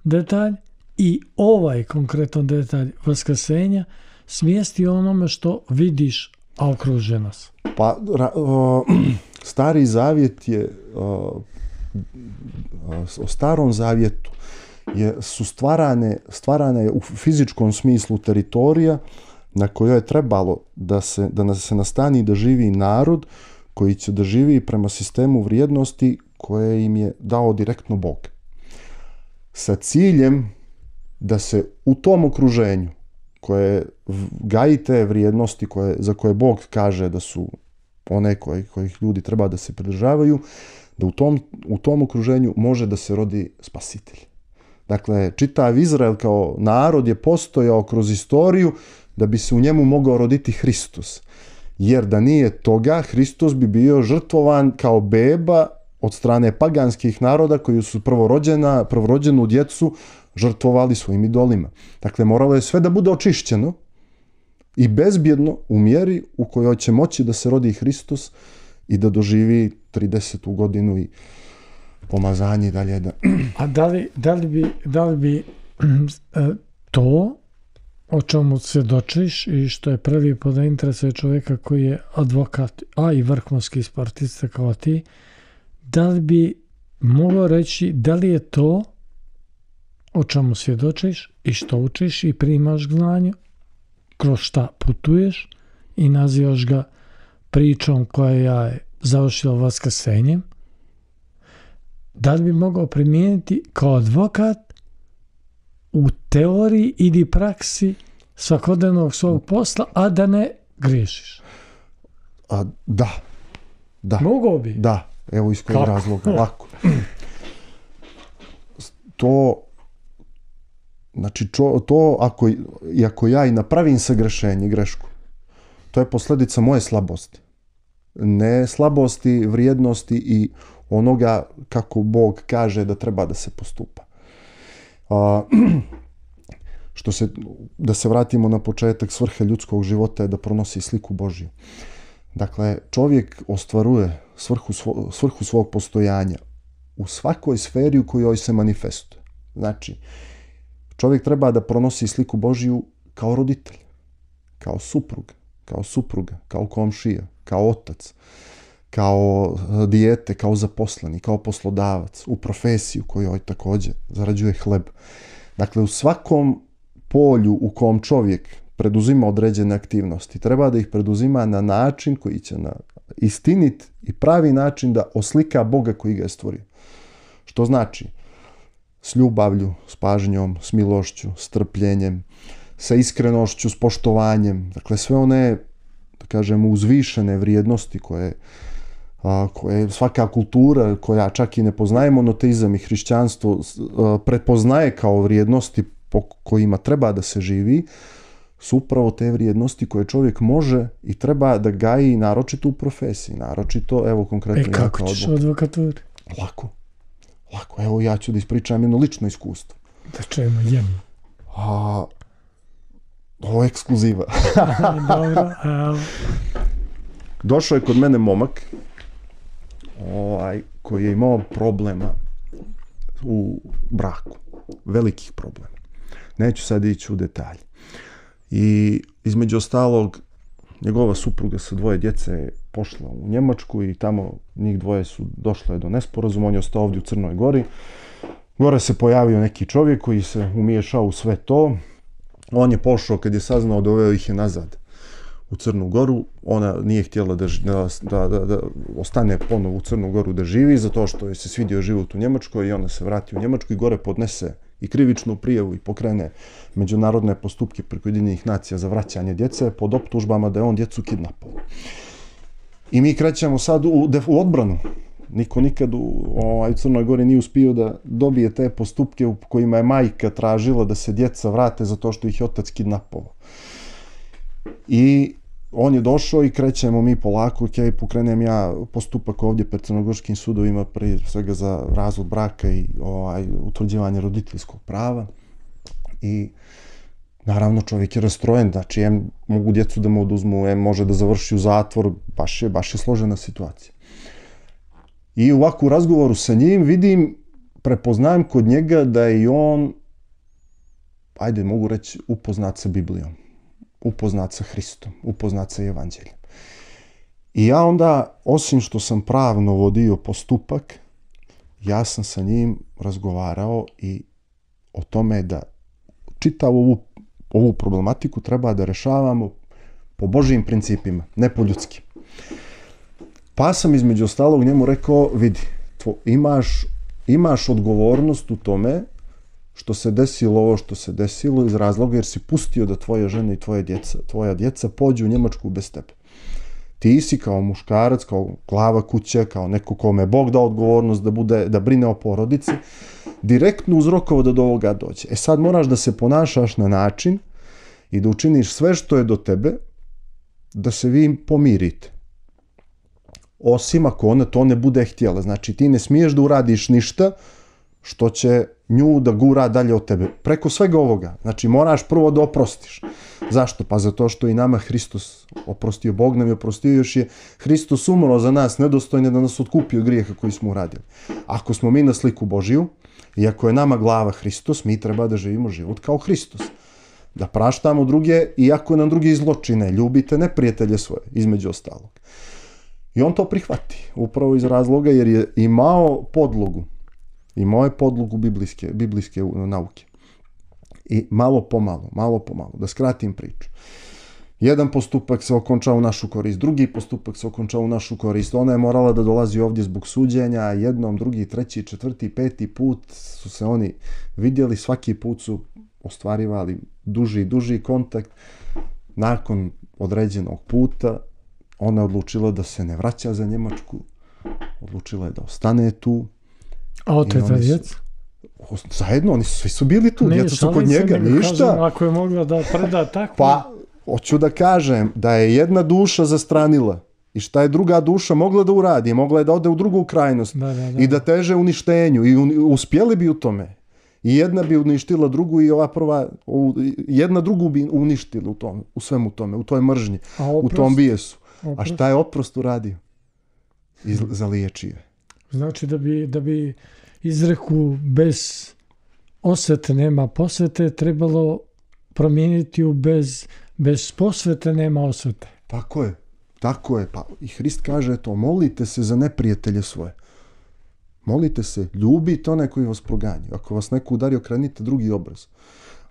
detalj i ovaj konkretan detalj vaskrsenja smjestio onome što vidiš, a okruže nas. Pa, Stari Zavjet je o Starom Zavjetu su stvarane u fizičkom smislu teritorija na kojoj je trebalo da se nastani da živi narod koji će da živi prema sistemu vrijednosti koje im je dao direktno Bog. Sa ciljem da se u tom okruženju koje gaji te vrijednosti za koje Bog kaže da su one kojih ljudi treba da se pridržavaju, da u tom okruženju može da se rodi spasitelj. Dakle, čitav Izrael kao narod je postojao kroz istoriju da bi se u njemu mogao roditi Hristos. Jer da nije toga, Hristos bi bio žrtvovan kao beba od strane paganskih naroda koji su prvorođenu djecu žrtvovali svojim idolima. Dakle, moralo je sve da bude očišćeno i bezbjedno u mjeri u kojoj će moći da se rodi Hristos i da doživi 30. godinu i pomazanje i dalje. A da li bi to o čemu svjedočiš i što je prvi pod interesuje čovjeka koji je advokat, a i vrhunski sportista kao ti, da li bi mogao reći da li je to o čemu svjedočiš i što učiš i primaš znanje, kroz šta putuješ i nazivaš ga pričom koja je završila vaskrsenjem, da li bi mogao primijeniti kao advokat u teoriji ili praksi svakodnevnog svog posla, a da ne griješiš? Da. Mogao bi? Da, evo iz kojeg razloga. Lako. Ako ja i napravim sagrešenje, grešku, to je posljedica moje slabosti. Ne slabosti, vrijednosti i onoga kako Bog kaže da treba da se postupa. Da se vratimo na početak, svrha ljudskog života je da pronosi sliku Božju. Dakle, čovjek ostvaruje svrhu svog postojanja u svakoj sferi u kojoj se manifestuje. Znači, čovjek treba da pronosi sliku Božju kao roditelj, kao suprug, kao supruga, kao komšija, kao otac, kao dijete, kao zaposleni, kao poslodavac, u profesiju kojoj također zarađuje hleb. Dakle, u svakom polju u kom čovjek preduzima određene aktivnosti, treba da ih preduzima na način koji će na istinit i pravi način da oslika Boga koji ga je stvorio. Što znači? S ljubavlju, s pažnjom, s milošću, s trpljenjem, sa iskrenošću, s poštovanjem. Dakle, sve one, da kažemo, uzvišene vrijednosti koje svaka kultura, koja čak i ne poznaje monoteizam i hrišćanstvo, prepoznaje kao vrijednosti po kojima treba da se živi, su upravo te vrijednosti koje čovjek može i treba da gaji naročito u profesiji. Naročito, evo konkretno... kako ćeš advokaturi? Lako. Evo ja ću da ispričam jedno lično iskustvo. Da čujemo jedno. Ovo je ekskluziva. Dobro, Došao je kod mene momak koji je imao problema u braku. Velikih problema. Neću sad ići u detalje. I između ostalog, njegova supruga sa 2 djece je pošla u Njemačku i tamo njih 2 su došle do nesporazuma. On je ostao ovdje u Crnoj Gori. Gore se pojavio neki čovjek koji se umiješao u sve to. On je pošao, kad je saznao, doveo ih je nazad u Crnu Goru. Ona nije htjela da ostane ponovo u Crnu Goru da živi, zato što je se svidio život u Njemačkoj i ona se vrati u Njemačku i gore podnese i krivičnu prijavu i pokrene međunarodne postupke preko Ujedinjenih nacija za vraćanje djece pod optužbama da je on djecu kidnapao. I mi krećemo sad u odbranu. Niko nikad u Crnoj Gori nije uspio da dobije te postupke u kojima je majka tražila da se djeca vrate zato što ih je otac kidnapao. I on je došao i krećemo mi polako, pokrenem ja postupak ovdje pred crnogorskim sudovima, prije svega za razvod braka i utvrđivanje roditeljskog prava. I naravno čovjek je rastrojen, znači mogu djecu da mu oduzmu, može da završi u zatvor, baš je složena situacija. I ovako u razgovoru sa njim vidim, prepoznajem kod njega da je i on, mogu reći, upoznat sa Biblijom, upoznat sa Hristom, upoznat sa Evanđeljem. I ja onda, osim što sam pravno vodio postupak, ja sam sa njim razgovarao i o tome da čitavu ovu problematiku treba da rešavamo po Božijim principima, ne po ljudskim. Pa sam između ostalog njemu rekao, vidi, imaš odgovornost u tome što se desilo ovo što se desilo iz razloga jer si pustio da tvoja žena i tvoja djeca pođu u Njemačku bez tebe. Ti si kao muškarac, kao glava kuće, kao neko kome je Bog dao odgovornost da brine o porodici, direktno uzrokovao da do ovoga dođe. Sad moraš da se ponašaš na način i da učiniš sve što je do tebe da se vi pomirite. Osim ako ona to ne bude htjela. Znači ti ne smiješ da uradiš ništa što će nju da gura dalje od tebe. Preko svega ovoga. Znači moraš prvo da oprostiš. Zašto? Pa zato što i nama Hristos oprostio. Bog nam je oprostio, još je Hristos umro za nas nedostojne da nas otkupi od grijeha koji smo uradili. Ako smo mi na sliku Božiju i ako je nama glava Hristos, mi treba da živimo život kao Hristos. Da praštamo druge iako nam drugi zločine. Ljubite neprijatelje svoje, između ostalog. I on to prihvati, upravo iz razloga jer je imao podlogu biblijske nauke. I malo pomalo, da skratim priču. Jedan postupak se okončao u našu korist, drugi postupak se okončao u našu korist. Ona je morala da dolazi ovdje zbog suđenja, jednom, drugi, treći, četvrti, peti put su se oni vidjeli, svaki put su ostvarivali duži kontakt. Nakon određenog puta ona je odlučila da se ne vraća za Njemačku, odlučila je da ostane tu. A oteta djeca? Zajedno, oni svi su bili tu, djeca su kod njega, ništa. Kažem, ako je mogla da preda tako... Pa, hoću da kažem da je jedna duša zastranila i šta je druga duša mogla da uradi, mogla je da ode u drugu krajnost i da teže uništenju i uspjeli bi u tome. I jedna bi uništila drugu i ova prva, jedna drugu bi uništila u svemu tome, u toj mržnji, u tom bijesu. A šta je oprost uradio? Zaliječio je. Znači da bi izreku bez osvete nema posvete trebalo promijeniti u bez posvete nema osvete. Tako je. Pa i Hrist kaže to, molite se za neprijatelje svoje. Molite se, ljubite one koji vas proganjaju. Ako vas neko udari, okrenite drugi obraz.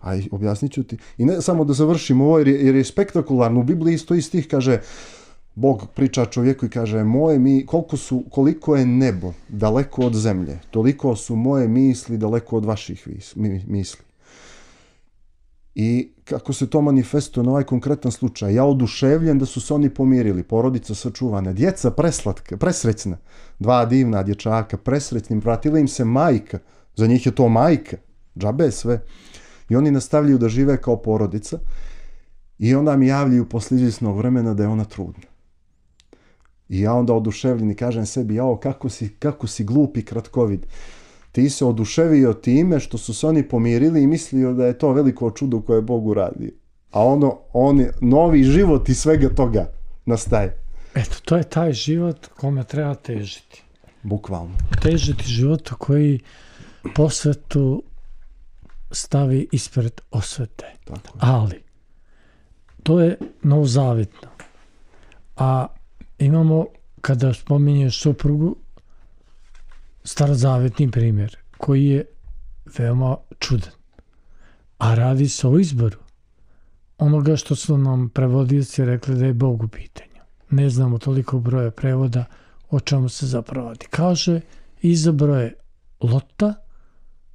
A objasnit ću ti. I ne samo da završim ovo jer je spektakularno. U Bibliji isto iz tih kaže, Bog priča čovjeku i kaže, koliko je nebo daleko od zemlje, toliko su moje misli daleko od vaših misli. I kako se to manifestuje na ovaj konkretan slučaj, ja oduševljen da su se oni pomirili, porodica sačuvana, djeca preslatka, presrećna, 2 divna dječaka, presrećnim, vratila im se majka, za njih je to majka, džabe sve. I oni nastavljaju da žive kao porodica i onda mi javljaju posle izvjesnog vremena da je ona trudna. I ja onda oduševljen i kažem sebi, kako si glup i kratkovid. Ti se oduševio time što su se oni pomirili i mislio da je to veliko čudo koje je Bog uradio. A on novi život iz svega toga nastaje. Eto, to je taj život kome treba težiti. Bukvalno. Težiti životu koji posvetu stavi ispred osvete. Tako je. Ali, to je novozavjetno. A imamo, kada spominješ suprugu, starozavjetni primjer, koji je veoma čudan. A radi se o izboru onoga što su nam prevodioci rekli da je Bog u pitanju. Ne znamo toliko broja prevoda o čemu se zapravo radi. Kaže, izabrao je Lota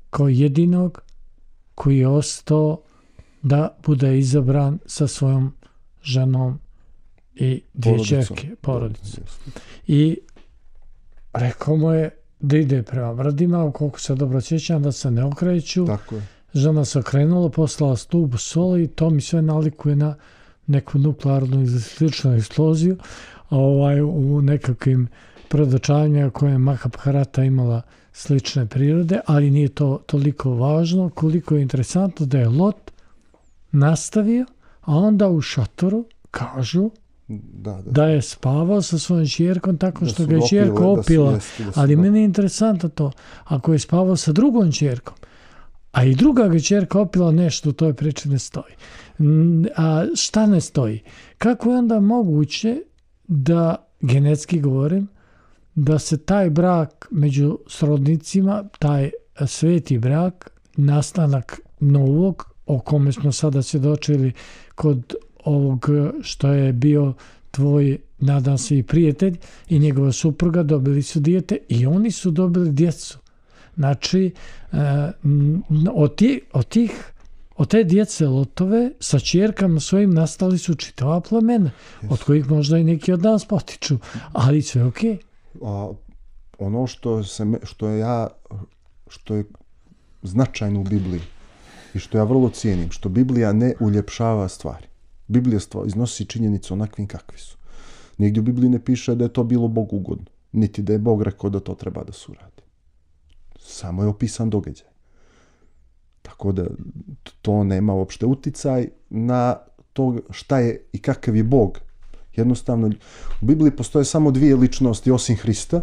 kao jedinog koji je ostao da bude izabran sa svojom ženom i dvije ćerke, porodicom. I rekao mu je da ide prema brdima, ukoliko se dobro sjećam, da se ne okreću. Tako je. Žena se okrenula, poslala stubu soli i to mi sve nalikuje na neku nuklearnu ili sličnu eksploziju u nekakvim predočanjima koje je Mahabharata imala slične prirode, ali nije to toliko važno koliko je interesantno da je Lot nastavio, a onda u šatoru kažu da je spavao sa svojom ćerkom tako što ga je ćerka opila. Ali meni je interesantno to, ako je spavao sa drugom ćerkom, a i druga ga ćerka opila, nešto u toj priči ne stoji. A šta ne stoji? Kako je onda moguće da, genetski govorim, da se taj brak među srodnicima, taj sveti brak, nastanak novog, o kome smo sada svjedočili kod ovog što je bio tvoj, nadam se, i prijatelj i njegova supruga, dobili su dijete i oni su dobili djecu. Znači, od te djece Lotove sa ćerkama svojim nastali su čitava plemena, od kojih možda i neki od nas potiču, ali sve okej. Ono što je značajno u Bibliji i što ja vrlo cijenim, što Biblija ne uljepšava stvari. Biblija iznosi činjenice onakvim kakvi su. Nigdje u Bibliji ne piše da je to bilo Bogu ugodno, niti da je Bog rekao da to treba da se uradi. Samo je opisan događaj. Tako da to nema uopšte uticaj na to šta je i kakav je Bog. Jednostavno, u Bibliji postoje samo dvije ličnosti osim Hrista,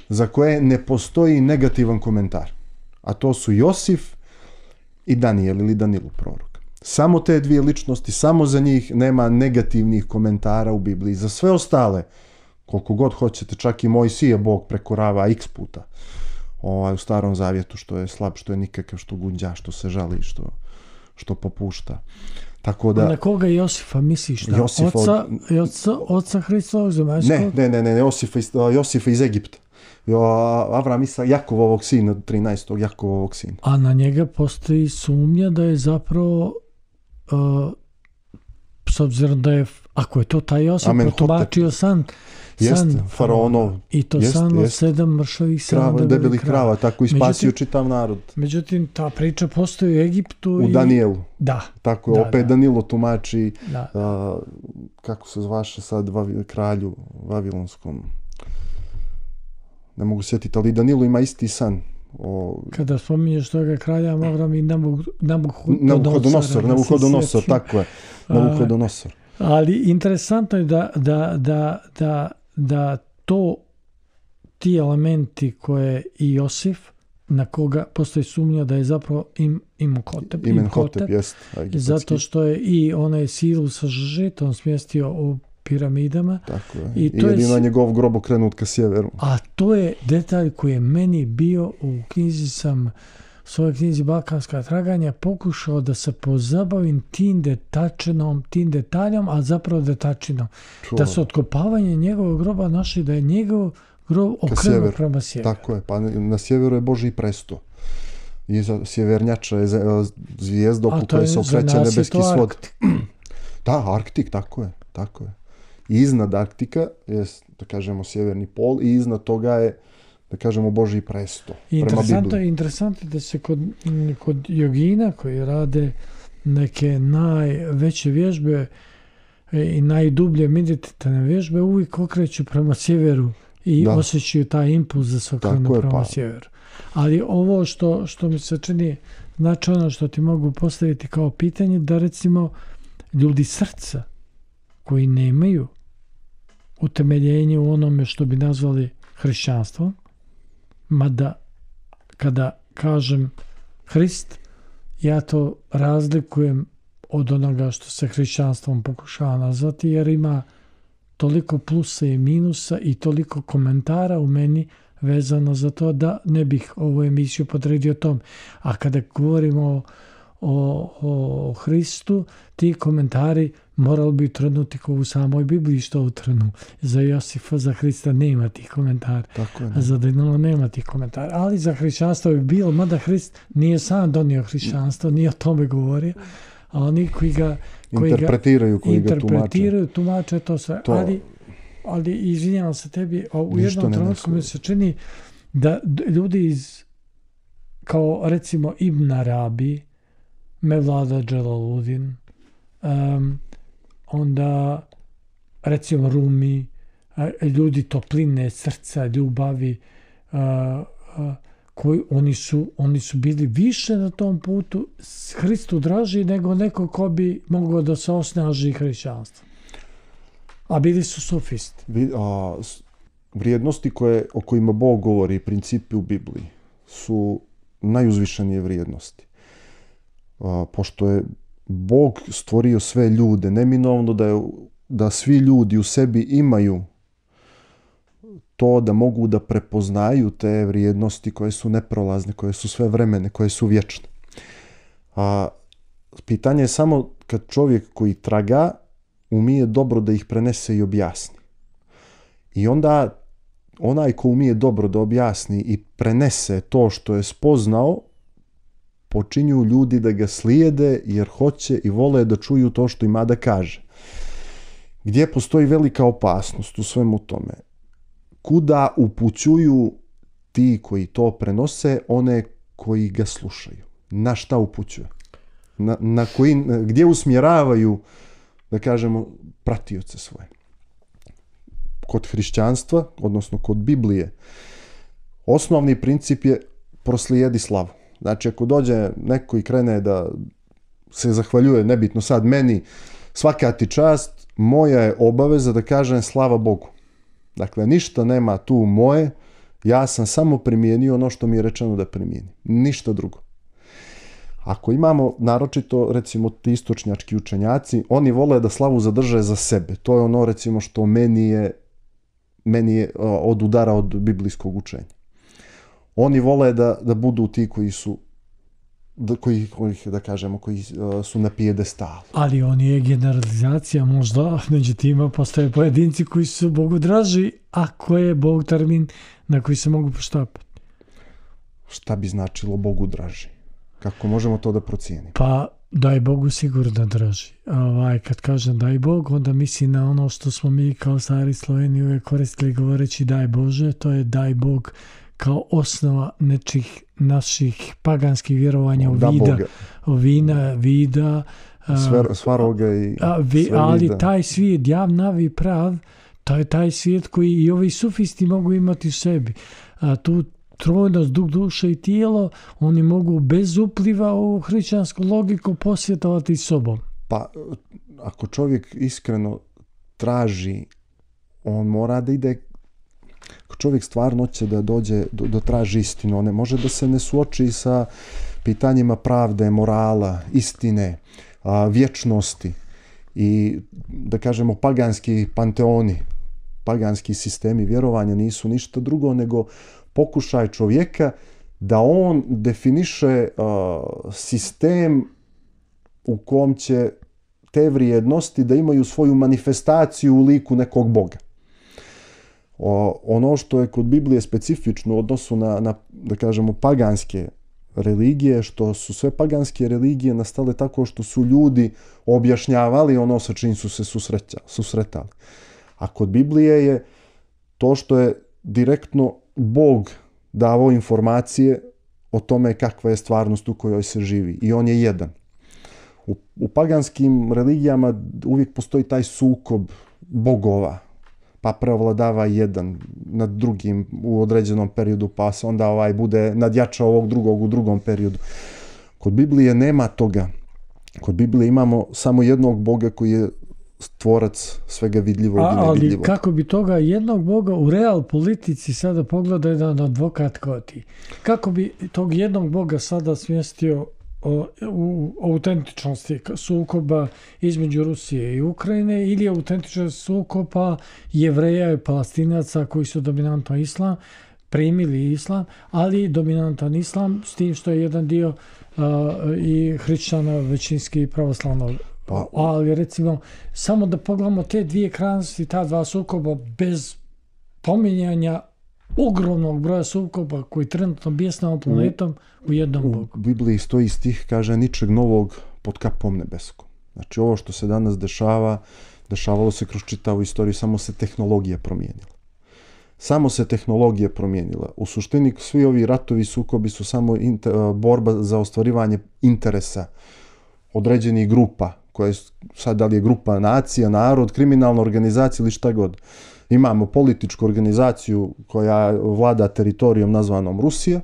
za koje ne postoji negativan komentar. A to su Josif i Danijel ili Danilo prorok. Samo te dvije ličnosti, samo za njih nema negativnih komentara u Bibliji. Za sve ostale, koliko god hoćete, čak i Mojsije Bog prekorava x puta u Starom Zavjetu, što je slab, što je nikakav, što gunđa, što se žali, što popušta. Tako da, na koga Josifa misliš? Oca Hristovog zemaljskog? Ne, Josifa iz Egipta. Avram Isak, Jakovovog sina, 13. Jakovovog sina. A na njega postoji sumnja da je zapravo, s obzirom da je, ako je to taj Josif, protumačio san faraonov. I to san od 7 mršavih, 7 debelih krava. Tako i spasio čitav narod. Međutim, ta priča postoji u Egiptu. U Danijelu. Da. Tako je, opet Danilo tumači, kako se zvaše sad kralju vavilonskom. Ne mogu sjetiti, ali Danilo ima isti san. Kada spominješ toga kralja, moram i Nabuhodonosor, tako je. Nabuhodonosor. Ali interesantno je da ti elementi koje i Josif, na koga postoji sumnja da je zapravo Imhotep, jest. Zato što je i onaj silu sa žetom smjestio u piramidama. Tako je. I jedino njegov grob okrenut ka sjeveru. A to je detalj koji je meni bio u svojoj knjizi Balkanska traganja, pokušao da se pozabavim tim detaljom, a zapravo detačinom. Da se otkopavanje njegovog groba našli da je njegov grob okrenut prema sjeveru. Tako je, pa na sjeveru je Božji presto. I sjevernjača je zvijezda oko koje se okreće nebeski svod. Da, Arktik, tako je. I iznad Arktika je, da kažemo, sjeverni pol i iznad toga je, da kažemo, Božji presto. Interesantno da se kod jogina koji rade neke najveće vježbe i najdublje meditativne vježbe uvijek okreću prema sjeveru i osjećaju taj impuls da se okrenu prema sjeveru. Ali ovo što mi se čini značajno, što ti mogu postaviti kao pitanje, da recimo ljudi srca koji nemaju utemeljenje u onome što bi nazvali hrišćanstvom, mada kada kažem Hrist, ja to razlikujem od onoga što se hrišćanstvom pokušava nazvati, jer ima toliko plusa i minusa i toliko komentara u meni vezano za to da ne bih ovu emisiju podredio tom. A kada govorimo o Hristu, ti komentari morali bi utrnuti kao u samoj Bibliji što utrnu. Za Josifa, za Hrista nema tih komentara. A za Danila nema tih komentara. Ali za hrišćanstvo bi bilo, mada Hrist nije sam donio hrišćanstvo, nije o tome govorio, a oni koji ga interpretiraju, tumače to sve. Ali izvinjavam se tebi, u jednom trenutku mi se čini da ljudi kao recimo Ibn Arabi, Mevlada Dželaludin, onda recimo Rumi, ljudi topline, srca, ljubavi, koji oni su bili više na tom putu Hristu draži nego neko ko bi mogao da se osnaži hrišćanstvo. A bili su sofisti. Vrijednosti o kojima Bog govori, principi u Bibliji, su najuzvišenije vrijednosti. Pošto je Bog stvorio sve ljude, neminovno da svi ljudi u sebi imaju to da mogu da prepoznaju te vrijednosti koje su neprolazne, koje su svevremene, koje su vječne. Pitanje je samo kad čovjek koji traga umije dobro da ih prenese i objasni. I onda onaj ko umije dobro da objasni i prenese to što je spoznao, počinju ljudi da ga slijede jer hoće i vole da čuju to što ima da kaže. Gdje postoji velika opasnost u svemu tome? Kuda upućuju ti koji to prenose one koji ga slušaju? Na šta upućuju? Gdje usmjeravaju, da kažemo, pratioce svoje? Kod hrišćanstva, odnosno kod Biblije, osnovni princip je proslijedi slavu. Znači, ako dođe neko i krene da se zahvaljuje, nebitno sad meni, svaka ti čast, moja je obaveza da kažem slava Bogu. Dakle, ništa nema tu moje, ja sam samo primijenio ono što mi je rečeno da primijenim. Ništa drugo. Ako imamo, naročito, recimo, ti istočnjački učenjaci, oni vole da slavu zadrže za sebe. To je ono, recimo, što meni je od udara od biblijskog učenja. Oni vole da budu ti koji su na pijedestalu. Ali on je generalizacija, možda među tima postoje pojedinci koji su Bogu draži, ako je Bog termin na koji se mogu poštapati. Šta bi značilo Bogu draži? Kako možemo to da procijenimo? Pa daj Bogu sigurno draži. Kad kažem daj Bog, onda misli na ono što smo mi kao stari Sloveni uvijek koristili govoreći daj Bože, to je daj Bog kao osnova nečih naših paganskih vjerovanja u vida, svaroga i ali taj svijet, jav, navi, prav, to je taj svijet koji i ovi sufisti mogu imati u sebi. Tu trojnost, duh, duša i tijelo, oni mogu bez upliva u hrišćansku logiku posvjetovati sobom. Pa, ako čovjek iskreno traži, on mora da ide. Ako čovjek stvarno će da dođe do traži istinu, on ne može da se ne suoči sa pitanjima pravde, morala, istine, vječnosti i, da kažemo, paganski panteoni, paganski sistemi vjerovanja nisu ništa drugo nego pokušaj čovjeka da on definiše sistem u kom će te vrijednosti da imaju svoju manifestaciju u liku nekog Boga. Ono što je kod Biblije specifično u odnosu na da kažemo, paganske religije, što su sve paganske religije nastale tako što su ljudi objašnjavali ono sa čim su se susretali. A kod Biblije je to što je direktno Bog davao informacije o tome kakva je stvarnost u kojoj se živi. I on je jedan. U paganskim religijama uvijek postoji taj sukob bogova, pa preovladava jedan nad drugim u određenom periodu, pa se onda bude nadjačao ovog drugog u drugom periodu. Kod Biblije nema toga. Kod Biblije imamo samo jednog Boga koji je stvorac svega vidljivog i nevidljivog. Ali kako bi toga jednog Boga u real politici sada pogleda jedan advokat kao ti? Kako bi tog jednog Boga sada smjestio u autentičnosti sukoba između Rusije i Ukrajine ili autentičnost sukoba Jevreja i Palestinaca koji su dominantno islam, primili islam, ali dominantan islam s tim što je jedan dio i hrišćana većinski pravoslavno. Ali recimo, samo da pogledamo te dvije krajnosti, ta dva sukoba bez pominjanja ogromnog broja sukoba koji trenutno bijesnamo planetom u jednom Bogu. U Bibliji stoji stih, kaže, ničeg novog pod kapom nebeskom. Znači, ovo što se danas dešavalo se kroz čitavu istoriju, samo se tehnologija promijenila. Samo se tehnologija promijenila. U suštini, svi ovi ratovi i sukobi su samo borba za ostvarivanje interesa određenih grupa, koje sad da li je grupa nacija, narod, kriminalna organizacija ili šta god. Imamo političku organizaciju koja vlada teritorijom nazvanom Rusija,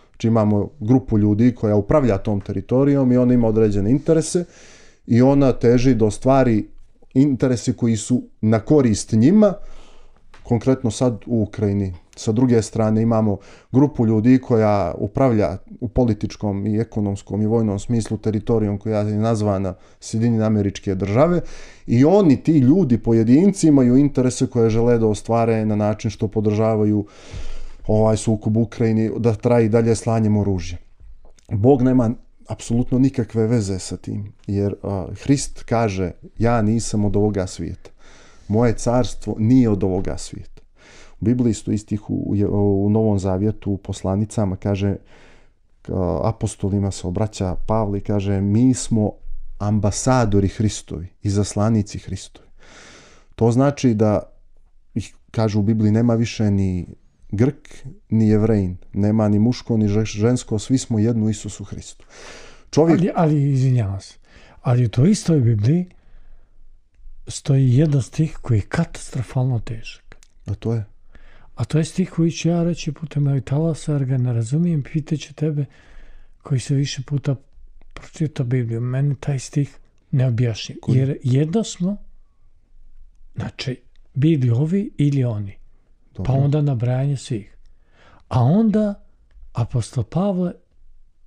znači imamo grupu ljudi koja upravlja tom teritorijom i ona ima određene interese i ona teži da ostvari interese koji su na korist njima, konkretno sad u Ukrajini. Sa druge strane imamo grupu ljudi koja upravlja u političkom i ekonomskom i vojnom smislu teritorijom koja je nazvana Sjedinjene Američke Države i oni, ti ljudi, pojedinci, imaju interese koje žele da ostvare na način što podržavaju ovaj sukob u Ukrajini, da traje i dalje slanjem oružja. Bog nema apsolutno nikakve veze sa tim, jer Hrist kaže, ja nisam od ovoga svijeta. Moje carstvo nije od ovoga svijeta. U Bibliji stoji stih u Novom Zavjetu, u poslanicama, kaže, apostolima se obraća Pavle i kaže, mi smo ambasadori Hristovi i zaslanici Hristovi. To znači da, kaže u Bibliji, nema više ni Grk, ni Jevrejin, nema ni muško, ni žensko, svi smo jedno u Isusu Hristu. Ali izvinjavam se, ali u toj istoj Bibliji stoji jedan stih koji je katastrofalno težak. A to je stih koji ću ja reći putem mojeg talasa, jer ga ne razumijem, pitaću tebe koji se više puta pročita Bibliju. Meni taj stih ne objašnji. Jer jedno smo, znači, bili ovi ili oni. Dobro. Pa onda nabrajanje svih. A onda apostol Pavle,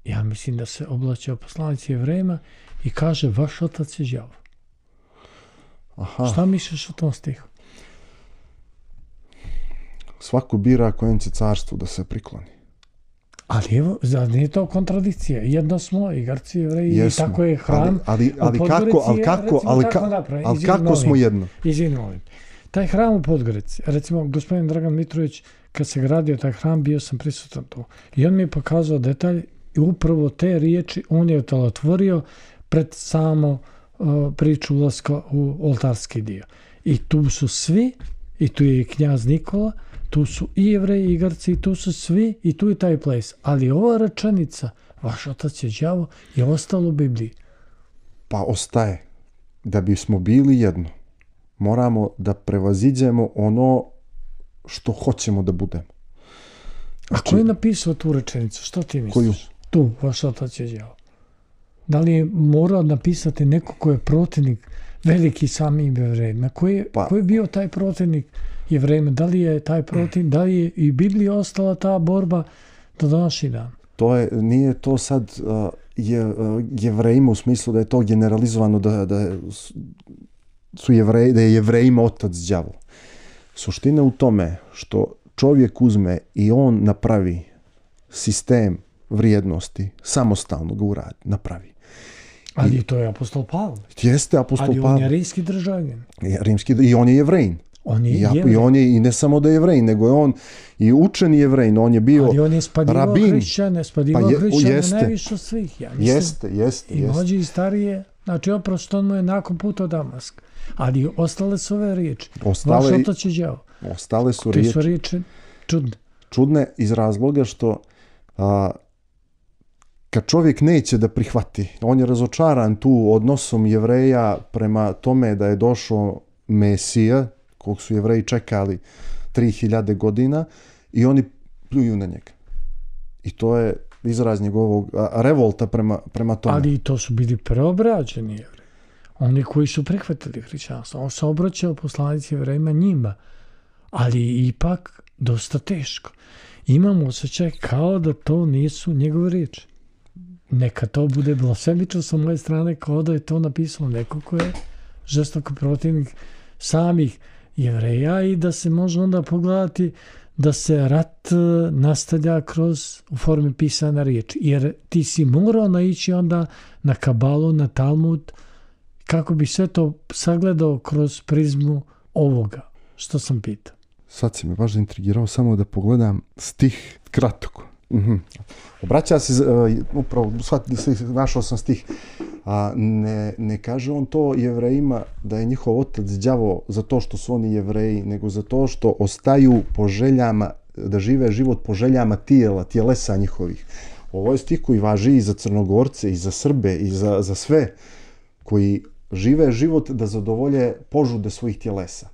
ja mislim da se oblači o poslanici Jevrejima i kaže, vaš otac je đavo. Aha. Šta misliš o tom stihu? Svako bira kojem će carstvu da se prikloni. Ali evo, nije to kontradikcija. Jedno smo, i Grci, Jevreji, i tako je hram. Ali kako smo jedno? Izvini, molim. Taj hram u Podgorici, recimo, gospodin Dragan Mitrović, kad se gradio taj hram, bio sam prisutan tu. I on mi je pokazao detalj i upravo te riječi on je otvorio pred samo priču ulaska u oltarski dio. I tu su svi, i tu je i knjaz Nikola, tu su i Jevreji i Grci, i tu su svi, i tu je taj ples. Ali ova rečenica, vaš otac je đavo, je ostalo u Bibliji. Pa ostaje. Da bismo bili jedno, moramo da prevaziđemo ono što hoćemo da budemo. Znači, a ko je napisao tu rečenicu? Što ti misliš? Koju? Tu, vaš otac je đavo. Da li je morao napisati neko ko je protivnik veliki samim Jevrejima? Ko je bio taj protivnik Jevrejima? Da li je taj protivnik, da li je i Biblija ostala ta borba do današnji dan? Nije to sad Jevrejima u smislu da je to generalizovano da je Jevrejima otac đavo. Suština u tome što čovjek uzme i on napravi sistem vrijednosti, samostalno ga uradi, napravi. Ali to je apostol Pavle. Jeste apostol Pavle. Ali on je rimski državljanin. I on je Jevrejin. I on je i ne samo da je Jevrejin, nego je on i učeni Jevrejin. On je bio rabin. Ali on je spadivao hrišćane najviše od svih. Ja mislim, jeste. I mlađi i starije. Znači, oprosto on mu je nakon puta u Damask. Ali ostale su ove riječi. Vaš otac je đavo. Ostale su riječi. Te su riječi čudne. Čudne iz razloga što kad čovjek neće da prihvati, on je razočaran tu odnosom Jevreja prema tome da je došao Mesija, kog su Jevreji čekali 3000 godina, i oni pljuju na njega. I to je izraz njegovog revolta prema tome. Ali to su bili preobrađeni Jevreji. oni koji su prihvatili hrišćanstvo. On se obraćao poslanici Jevrejima njima, ali ipak dosta teško. Imam osjećaj kao da to nisu njegove riječi. Neka to bude blasfemično sa moje strane, kao da je to napisano neko ko je žestoko protivnik samih Jevreja i da se može onda pogledati da se rat nastavlja u formi pisane riječi. Jer ti si morao naići onda na Kabalu, na Talmud, kako bi sve to sagledao kroz prizmu ovoga, što sam pitao. Sad si me baš intrigirao, samo da pogledam stih kratko. Obraća se, upravo, našao sam stih. Ne kaže on to Jevrejima da je njihov otac đavo za to što su oni Jevreji, nego za to što ostaju po željama, da žive život po željama tijelesa njihovih. Ovo je stih koji važi i za Crnogorce, i za Srbe, i za sve koji žive život da zadovolje požude svojih tjelesa.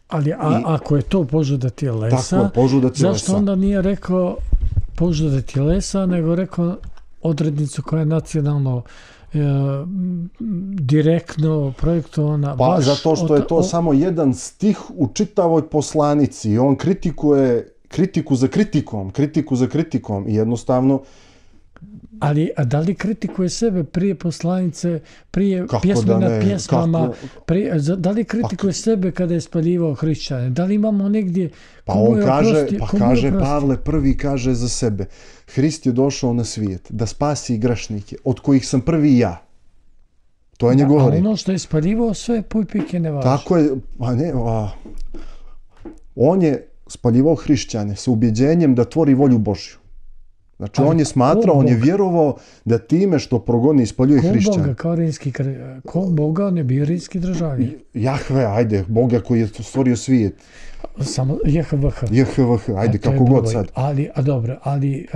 Ali ako je to požuda tjelesa, zašto onda nije rekao požuda tjelesa, nego rekao odrednicu koja je nacionalno direktno projektovana? Pa zato što je to samo jedan stih u čitavoj poslanici i on kritikuje kritiku za kritikom i jednostavno. Ali da li kritikuje sebe prije poslanice, prije pjesme nad pjesmama, da li kritikuje sebe kada je spaljivao hrišćane? Da li imamo negdje... kaže Pavle prvi kaže za sebe, Hrist je došao na svijet da spasi grešnike, od kojih sam prvi ja. To je njegov riječ. A ono što je spaljivao sve pojpike ne važi. Tako je, on je spaljivao hrišćane sa ubjeđenjem da tvori volju Božju. Znači, on je smatrao, on je vjerovao da time što progoni i spaljuje hrišćane. Ko Boga, on je bio rimski državljanin. Jahve, ajde, Boga koji je stvorio svijet. Samo JHVH. JHVH, ajde, kako god sad. Ali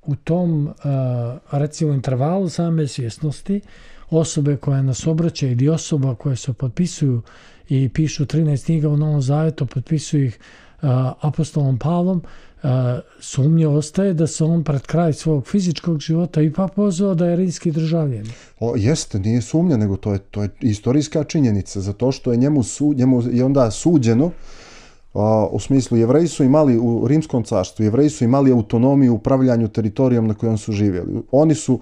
u tom recimo intervalu same svjesnosti, osobe koje nas obraćaju ili osoba koje se potpisuju i pišu 13 knjiga u Novom Zavetu, potpisuju ih apostolom Pavlom, sumnje ostaje da se on pred kraj svog fizičkog života ipak pozvao da je rimski državljanin. Jeste, nije sumnja, nego to je istorijska činjenica, zato što je njemu je onda suđeno, u smislu Jevreji su imali u Rimskom carstvu, Jevreji su imali autonomiju u upravljanju teritorijom na kojom su živjeli. Oni su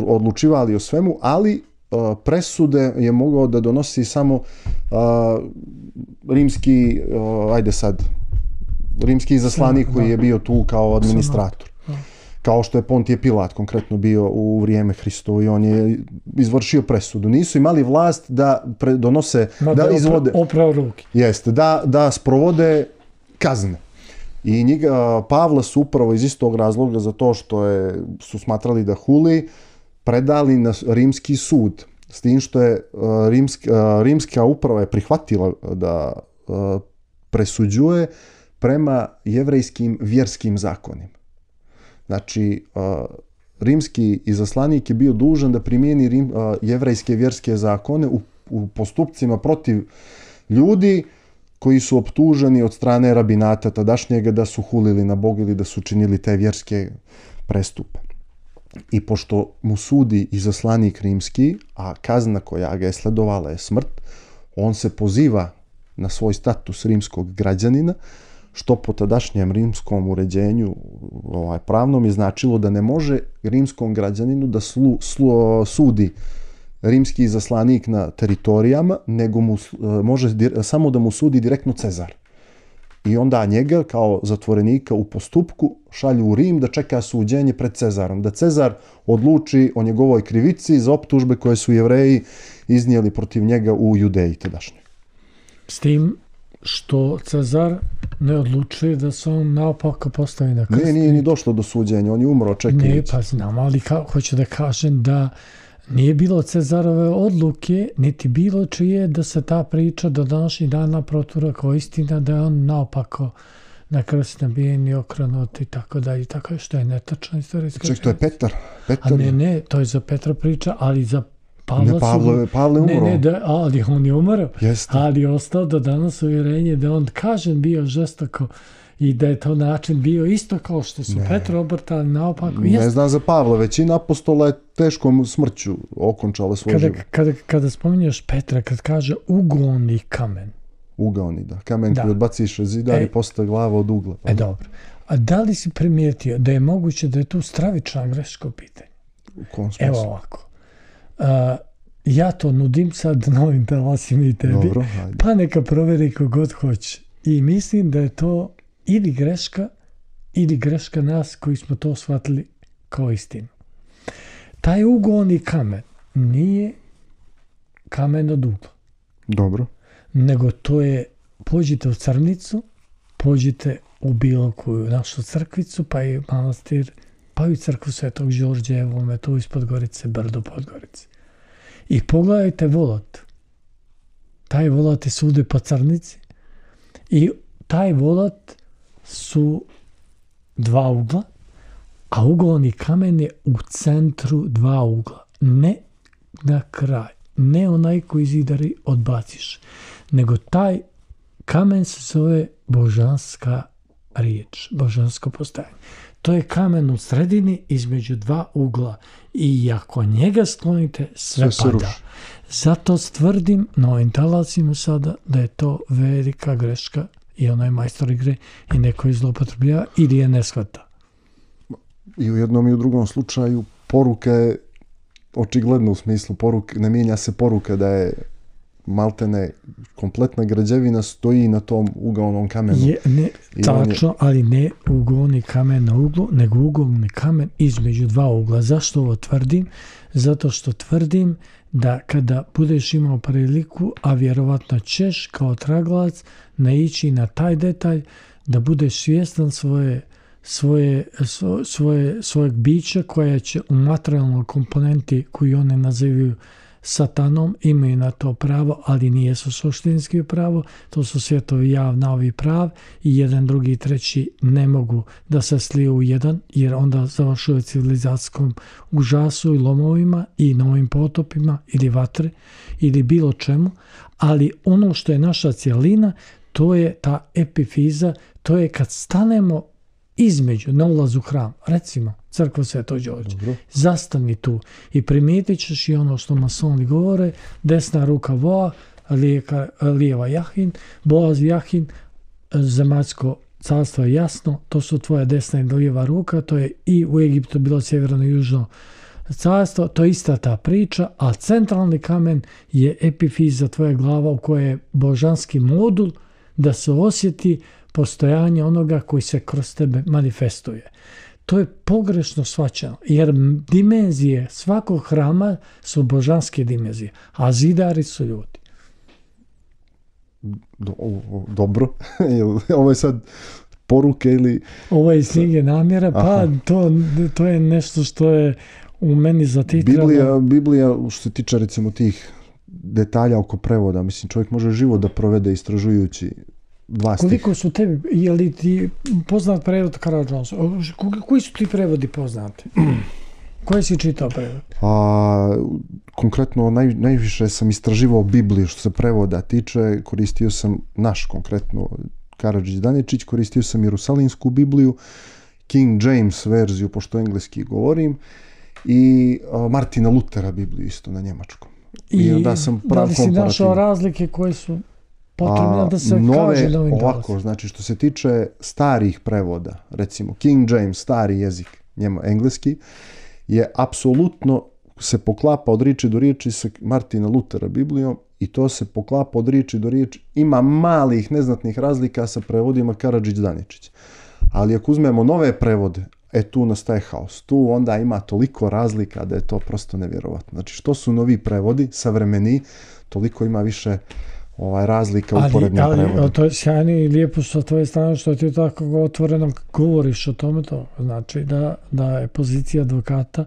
odlučivali o svemu, ali presude je mogao da donosi samo rimski, rimski izaslanik koji je bio tu kao administrator. Kao što je Pontije Pilat konkretno bio u vrijeme Hristovo i on je izvršio presudu. Nisu imali vlast da donose, da izvode, jeste, da sprovode kazne. I Pavla su upravo iz istog razloga za to što su smatrali da huli, predali na rimski sud. S tim što je rimska uprava je prihvatila da presuđuje prema jevrejskim vjerskim zakonima. Znači, rimski izaslanik je bio dužan da primijeni jevrejske vjerske zakone u postupcima protiv ljudi koji su optuženi od strane rabinata tadašnjega da su hulili na Boga ili da su činili te vjerske prestupe. I pošto mu sudi izaslanik rimski, a kazna koja ga je sledovala je smrt, on se poziva na svoj status rimskog građanina, što po tadašnjem rimskom uređenju pravnom je značilo da ne može rimskom građaninu da sudi rimski izaslanik na teritorijama, nego može samo da mu sudi direktno Cezar. I onda njega kao zatvorenika u postupku šalju u Rim da čeka suđenje pred Cezarom. Da Cezar odluči o njegovoj krivici za optužbe koje su Jevreji iznijeli protiv njega u Judeji tadašnjoj. S tim što Cezar ne odlučuje da se on naopako postavi na krst. Nije ni došlo do suđenja, on je umro čekajući. Ne, pa znam, ali hoću da kažem da nije bilo Cezarove odluke, niti bilo čije da se ta priča do današnjih dana protura kao istina, da je on naopako na krst nabijen i okrenut i tako dalje, što je netačno istorijska. Ček, to je Petar. A ne, to je za Petra priča, ali za Pavla Pavle umro. Ali on je umro. Jeste. Ali je ostao do danas uvjerenje da on kažem bio žestoko i da je to način bio isto kao što su Petru obrtali naopako. Ne znam za Pavla, većina apostola je teškom smrću okončala svoj život. Kada spominješ Petra, kad kaže ugaoni kamen. Ugaoni, da. Kamen koji odbaciš zidar i postaje glava od ugla. Dobro. A da li si primijetio da je moguće da je tu stravična greška u pitanju? U kom smislu? Evo ovako. Ja to nudim sad novim talasima i tebi. Dobro, pa neka proveri kogod hoće. I mislim da je to ili greška nas koji smo to shvatili kao istinu. Taj ugaoni kamen nije kamen od ugla. Dobro. Nego to je, pođite u Crnicu, pođite u bilo koju našu crkvicu, pa i manastir, pa i crkvu Svetog Đorđa, evo me tu ispod Gorice, brdo Podgorice. I pogledajte volat. Taj volat je svugdje po Crnici i taj volat su dva ugla, a ugaoni kamen je u centru dva ugla. Ne na kraj, ne onaj koji zidari odbaciš, nego taj kamen se zove božanska riječ, božansko postojanje. To je kamen u sredini između dva ugla i ako njega sklonite, sve pada. Zato tvrdim na ovim talasima sada da je to velika greška i onaj majstor igre i neko je zloupotrebljava ili je ne shvata. I u jednom i u drugom slučaju poruka je očigledno u smislu poruke, ne mijenja se poruka da je maltene kompletna građevina stoji na tom ugaonom kamenu. Tačno, ali ne ugaoni kamen na uglu, nego ugaoni kamen između dva ugla. Zašto ovo tvrdim? Zato što tvrdim da kada budeš imao priliku, a vjerovatno ćeš kao traglac naići na taj detalj, da budeš svjestan svojeg bića koja će u materijalnoj komponenti koju oni nazivaju satanom, imaju na to pravo, ali nije su suštinski pravo, to su svjetovi jav, navi prav i jedan, drugi, treći ne mogu da se sliju u jedan, jer onda završuje civilizacijskom užasu i lomovima i novim potopima ili vatre ili bilo čemu, ali ono što je naša cijelina, to je ta epifiza, to je kad stanemo između, na ulazu u hram, recimo crkva Svetog Đorđa, zastani tu i primijetit ćeš i ono što masoni govore, desna ruka Voa, lijeva Jahin, Boaz Jahin, zemaljsko carstvo je jasno, to su tvoja desna i lijeva ruka, to je i u Egiptu bilo sjeverno i južno carstvo, to je ista ta priča, a centralni kamen je epifiza tvoja glava u kojoj je božanski modul da se osjeti postojanje onoga koji se kroz tebe manifestuje. To je pogrešno shvaćeno, jer dimenzije svakog hrama su božanske dimenzije, a zidari su ljudi. Dobro. Ovo je sad poruke ili... Ovo je iz knjige namjera, pa to je nešto što je u meni zatitralo. Biblija, što se tiče recimo tih detalja oko prevoda, mislim, čovjek može život da provede istražujući dva stiha. Koliko su tebi, je li ti poznat prevod Karadžonsa? Koji su ti prevodi poznati? Koji si čitao prevod? Konkretno, najviše sam istraživao Bibliju što se prevoda tiče. Koristio sam naš, konkretno Karadžić-Daničić, koristio sam Jerusalimsku Bibliju, King James verziju, pošto engleski govorim, i Martina Lutera Bibliju isto na njemačkom. I onda sam da li si našao razlike koje su potrebno da se kaže na ovim ovako, znači što se tiče starih prevoda, recimo King James, stari jezik, engleski, je apsolutno se poklapa od riječi do riječi sa Martina Lutera Biblijom i to se poklapa od riječi do riječi. Ima malih, neznatnih razlika sa prevodima Karadžić-Daničić. Ali ako uzmemo nove prevode, tu nastaje haos. Tu onda ima toliko razlika da je to prosto nevjerovatno. Znači što su novi prevodi, savremeni, toliko ima više razlika u uporednim prevodima. Ali to je sjajno i lijepo sa tvoje strane što ti tako otvoreno govoriš o tome. To znači da je pozicija advokata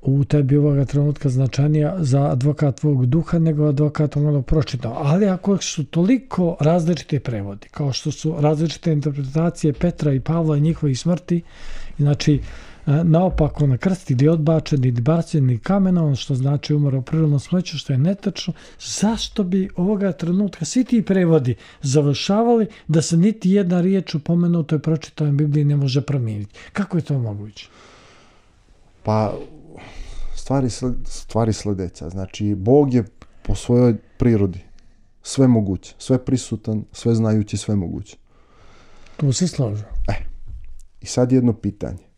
u tebi ovoga trenutka značajnija za advokat tvojeg duha nego advokat onog pročitao. Ali ako su toliko različiti prevodi, kao što su različite interpretacije Petra i Pavla i njihovih smrti, znači naopako na krst ili odbačen ili bačen ili kamenom, što znači umro u prirodnom smeću, što je netačno. Zašto bi ovoga trenutka svi ti prevodi završavali da se niti jedna riječ u pomenutoj pročitanoj Bibliji ne može promijeniti? Kako je to moguće? Pa, stvari sledeća. Znači, Bog je po svojoj prirodi sve moguće, sve prisutan, sve znajući, sve moguće. Tu se slažu. I sad jedno pitanje.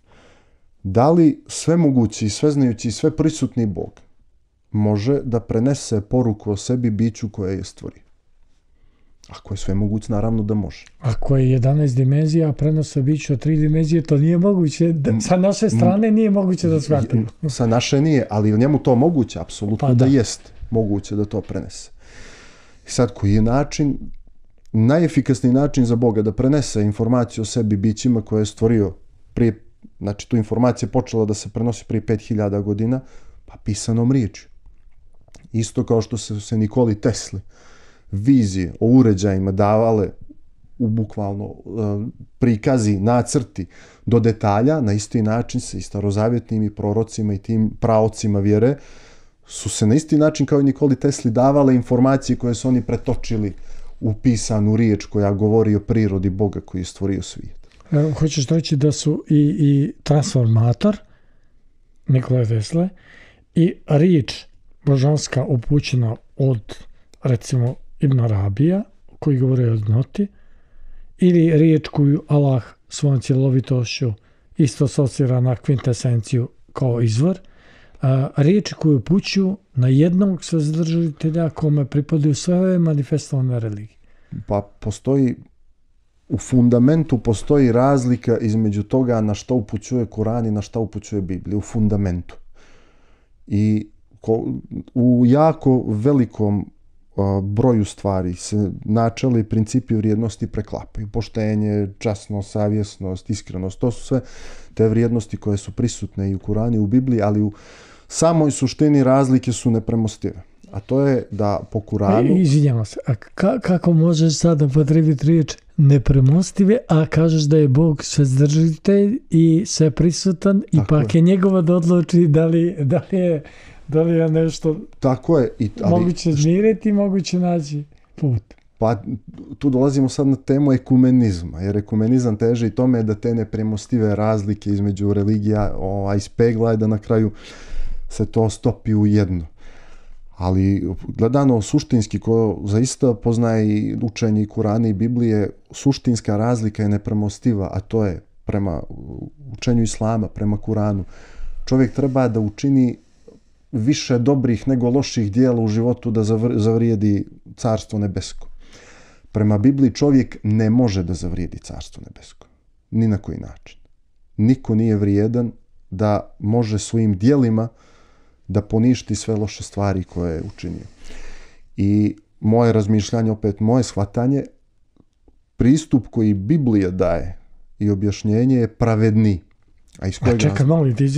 Da li sve mogući, sve znajući i sve prisutni Bog može da prenese poruku o sebi biću koje je stvorio? Ako je sve moguće, naravno da može. Ako je 11 dimenzija, a prenose biću od 3 dimenzije, to nije moguće. Sa naše strane nije moguće da shvatimo. Sa naše nije, ali njemu to moguće, apsolutno pa da jest moguće da to prenese. I sad, koji je način, najefikasniji način za Boga da prenese informaciju o sebi bićima koje je stvorio prije, znači tu informacija je počela da se prenosi prije 5000 godina, pa pisanom riječju. Isto kao što se Nikoli Tesli vizije o uređajima davale u bukvalno prikazi, nacrti do detalja, na isti način se i starozavjetnim i prorocima i tim praocima vjere su se na isti način kao i Nikoli Tesli davale informacije koje su oni pretočili u pisanu riječ koja govori o prirodi Boga koji je stvorio svijet. Hoćeš reći da su i transformator Nikole Tesle i riječ božanska upućena od, recimo, Ibn Arabija, koji govori o jednoti, ili riječ koju Allah svojom cjelovitošću isto asocira na kvintesenciju kao izvor, riječi koju upućuju na jednog svezdržitelja kome pripadaju sve manifestovane religije. Pa postoji, u fundamentu postoji razlika između toga na šta upućuje Kuran i na šta upućuje Biblija, u fundamentu. I u jako velikom broju stvari se načeli principi vrijednosti preklapaju. Poštenje, časnost, savjesnost, iskrenost, to su sve te vrijednosti koje su prisutne i u Kuranu i u Bibliji, ali u samoj suštini razlike su nepremostive. A to je da po Kuranu... Izvinjavam se, a kako možeš sada potrebiti riječ nepremostive, a kažeš da je Bog svezdržitelj i sve prisutan i pak je njegova da odluči da li je nešto tako je, moguće zmiriti, moguće naći put. Pa tu dolazimo sad na temu ekumenizma, jer ekumenizam teži i tome da te nepremostive razlike između religija ispegla i da na kraju se to stopi u jedno. Ali gledano suštinski, ko zaista poznaje i učenje i Kurana i Biblije, suštinska razlika je nepremostiva, a to je prema učenju Islama, prema Kuranu. Čovjek treba da učini više dobrih nego loših dijela u životu da zavrijedi carstvo nebesko. Prema Bibliji čovjek ne može da zavrijedi carstvo nebesko. Ni na koji način. Niko nije vrijedan da može svojim dijelima da poništi sve loše stvari koje je učinio. I moje razmišljanje, opet moje shvatanje, pristup koji Biblija daje i objašnjenje je pravedniji. Čekaj, malo ti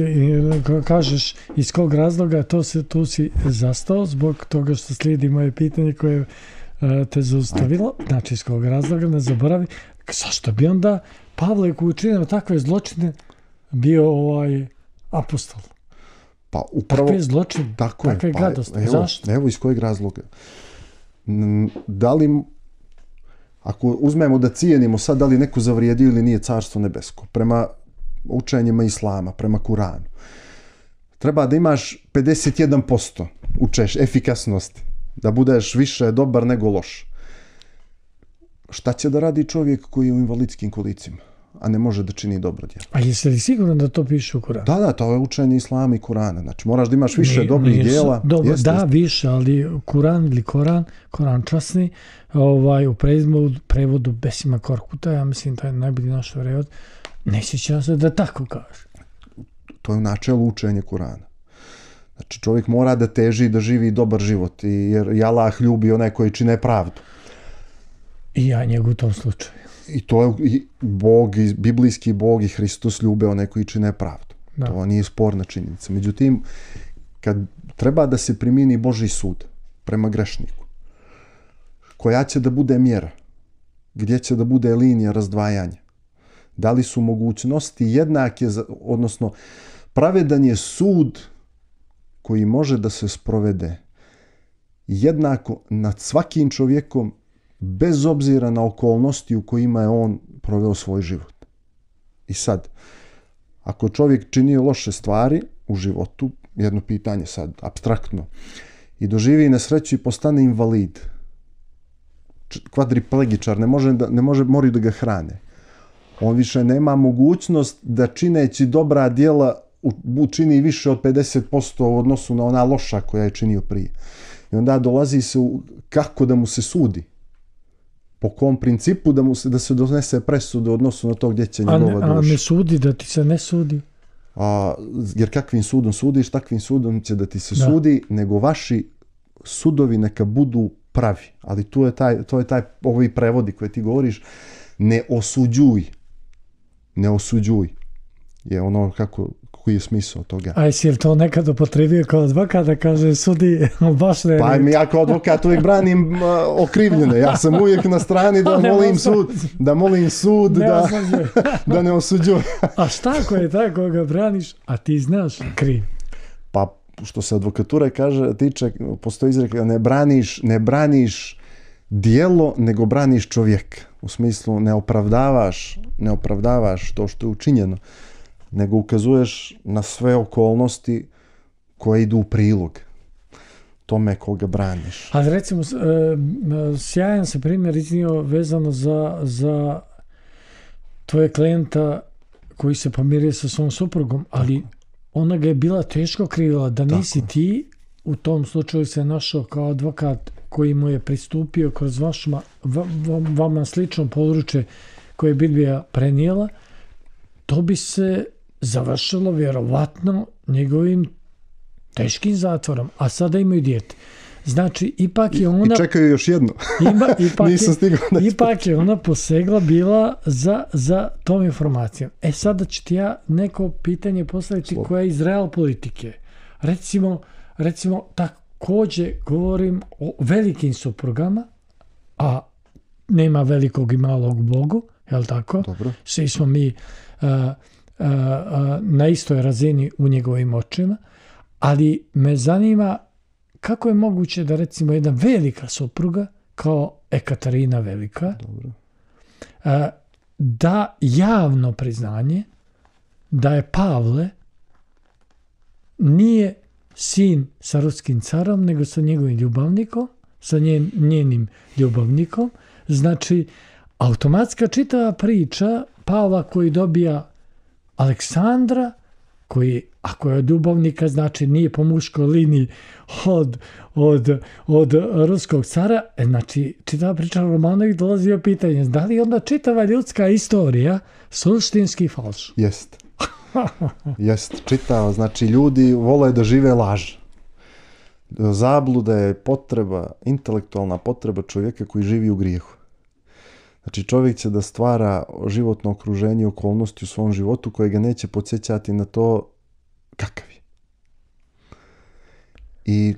kažeš iz kog razloga tu si zastao zbog toga što slijedi moje pitanje koje te zaustavilo. Znači iz kog razloga, ne zaboravi. Zašto bi onda Pavle koji učinio takve zločine bio apostol? Pa upravo takve zločine, takve gadosti. Zašto? Evo iz kojeg razloga. Da li, ako uzmemo da cijenimo sad da li neko zavrijedio ili nije carstvo nebesko, prema učenjima Islama, prema Kuranu, treba da imaš 51% efikasnosti, da budeš više dobar nego loš. Šta će da radi čovjek koji je u invalidskim kolicima, a ne može da čini dobro djelo? A jesi li siguran da to piše u Kuranu? Da, to je učenje Islama i Kurana. Znači, moraš da imaš više dobrih djela. Da, više, ali Kuran ili Koran časni, u prevodu Besima Korkuta, ja mislim da je najbolji naš prevod, ne sjećam se da tako kaže. To je u načelu učenje Kurana. Znači, čovjek mora da teži da živi dobar život, jer Allah ljubi onaj koji čine pravdu. I ja njegu u tom slučaju. I to je Bog, biblijski Bog i Hristos ljube onaj koji čine pravdu. Da. To nije sporna činjenica. Međutim, kad treba da se primini Božji sud prema grešniku, koja će da bude mjera, gdje će da bude linija razdvajanja, Da li su mogućnosti jednake, odnosno pravedan je sud koji može da se sprovede jednako nad svakim čovjekom bez obzira na okolnosti u kojima je on proveo svoj život. I sad, ako čovjek činio loše stvari u životu, jedno pitanje sad, apstraktno, i doživi nesreću i postane invalid, kvadriplegičar, moraju da ga hrane. On više nema mogućnost da čineći dobra djela učini više od 50% u odnosu na ona loša koja je činio prije. I onda dolazi se kako da mu se sudi. Po kom principu da se donese presuda u odnosu na to gdje će njegova duša. A ne sudi, da ti se ne sudi? Jer kakvim sudom sudiš, takvim sudom će da ti se sudi, nego vaši sudovi neka budu pravi. Ali to je taj ovi prevodi koje ti govoriš, ne osuđuj. Ne osuđuj. Je ono koji je smisao toga. A jesi li to nekad upotrebio kao advokat da kaže sudi baš ne? Pa ja kao advokat uvijek branim okrivljene. Ja sam uvijek na strani da molim sud da ne osuđuje. A šta ako je taj koga braniš, a ti znaš kriv? Pa što se advokatura tiče, postoji izreka, ne braniš djelo, nego braniš čovjeka. U smislu ne opravdavaš to što je učinjeno, nego ukazuješ na sve okolnosti koje idu u prilog tome koga braniš. Ali recimo, sjajan se primjer iznio vezano za tvoje klijenta koji se pomirio sa svom suprugom, ali ona ga je bila teško krivila da nisi ti, u tom slučaju se našao kao advokat koji mu je pristupio kroz vama slično područje koje je Biblija prenijela, to bi se završilo vjerovatno njegovim teškim zatvorom, a sada imaju dijete. Znači, ipak je ona... I čekaju još jedno. Ipak je ona posegla bila za tom informacijom. Sada ću ti ja neko pitanje postaviti koja je iz real politike. Recimo, također govorim o velikim suprugama, a nema velikog i malog u Bogu, jel tako? Dobro. Svi smo mi na istoj razini u njegovim očima, ali me zanima kako je moguće da recimo jedna velika supruga kao Ekaterina Velika da javno priznanje da je Pavle nije sin sa ruskim carom, nego sa njegovim ljubavnikom, sa njenim ljubavnikom. Znači, automatska čitava priča Pavla koji dobija Aleksandra, koji, ako je od ljubavnika, znači nije po muškoj liniji od ruskog cara, znači čitava priča Romanovih dolazi u pitanje, da li onda čitava ljudska istorija suštinski falš? Jest, čitava, znači ljudi vole da žive laž. Zabluda je intelektualna potreba čovjeka koji živi u grijehu. Znači čovjek će da stvara životno okruženje i okolnosti u svom životu koje ga neće podsjećati na to kakav je. I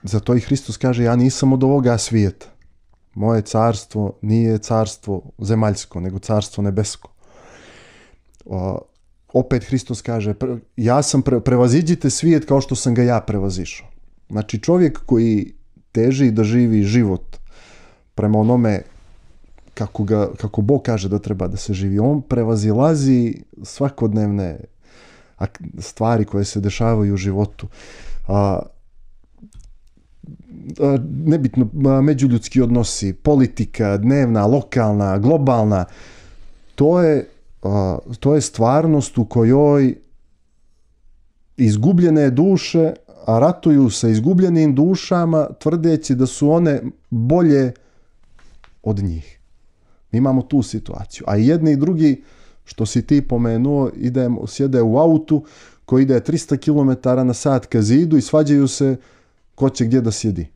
zato i Hristos kaže, ja nisam od ovoga svijeta. Moje carstvo nije carstvo zemaljsko, nego carstvo nebesko. Opet Hristos kaže, ja sam prevaziđite svijet kao što sam ga ja prevazišao. Znači čovjek koji teži da živi život prema onome kako Bog kaže da treba da se živi, on prevazilazi svakodnevne stvari koje se dešavaju u životu. Nebitno, međuljudski odnosi, politika, dnevna, lokalna, globalna, to je stvarnost u kojoj izgubljene duše ratuju sa izgubljenim dušama tvrdeći da su one bolje od njih. Mi imamo tu situaciju. A jedni i drugi, što si ti pomenuo, sjede u autu koji ide 300 km na sat ka zidu i svađaju se ko će gdje da sjedi.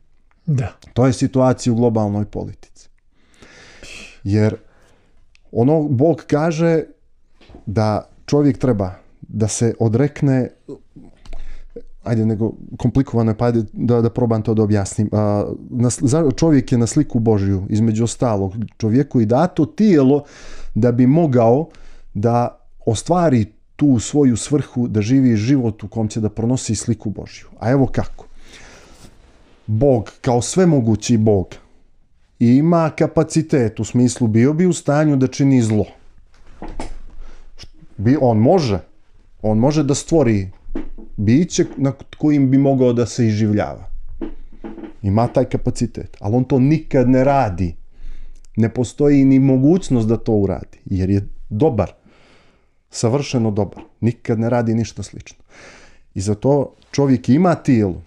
Da. To je situacija u globalnoj politici. Jer Bog kaže da čovjek treba da se odrekne, nego komplikovano je, pa ajde da probam to da objasnim. Čovjek je na sliku Božju, između ostalog čovjeku i dato tijelo da bi mogao da ostvari tu svoju svrhu, da živi život u kom će da pronosi sliku Božju. A evo kako. Bog, kao svemogući Bog, ima kapacitet, u smislu bio bi u stanju da čini zlo. On može da stvori biće nad kojim bi mogao da se iživljava. Ima taj kapacitet, ali on to nikad ne radi. Ne postoji ni mogućnost da to uradi, jer je dobar, savršeno dobar. Nikad ne radi ništa slično. I zato čovjek ima tijelo,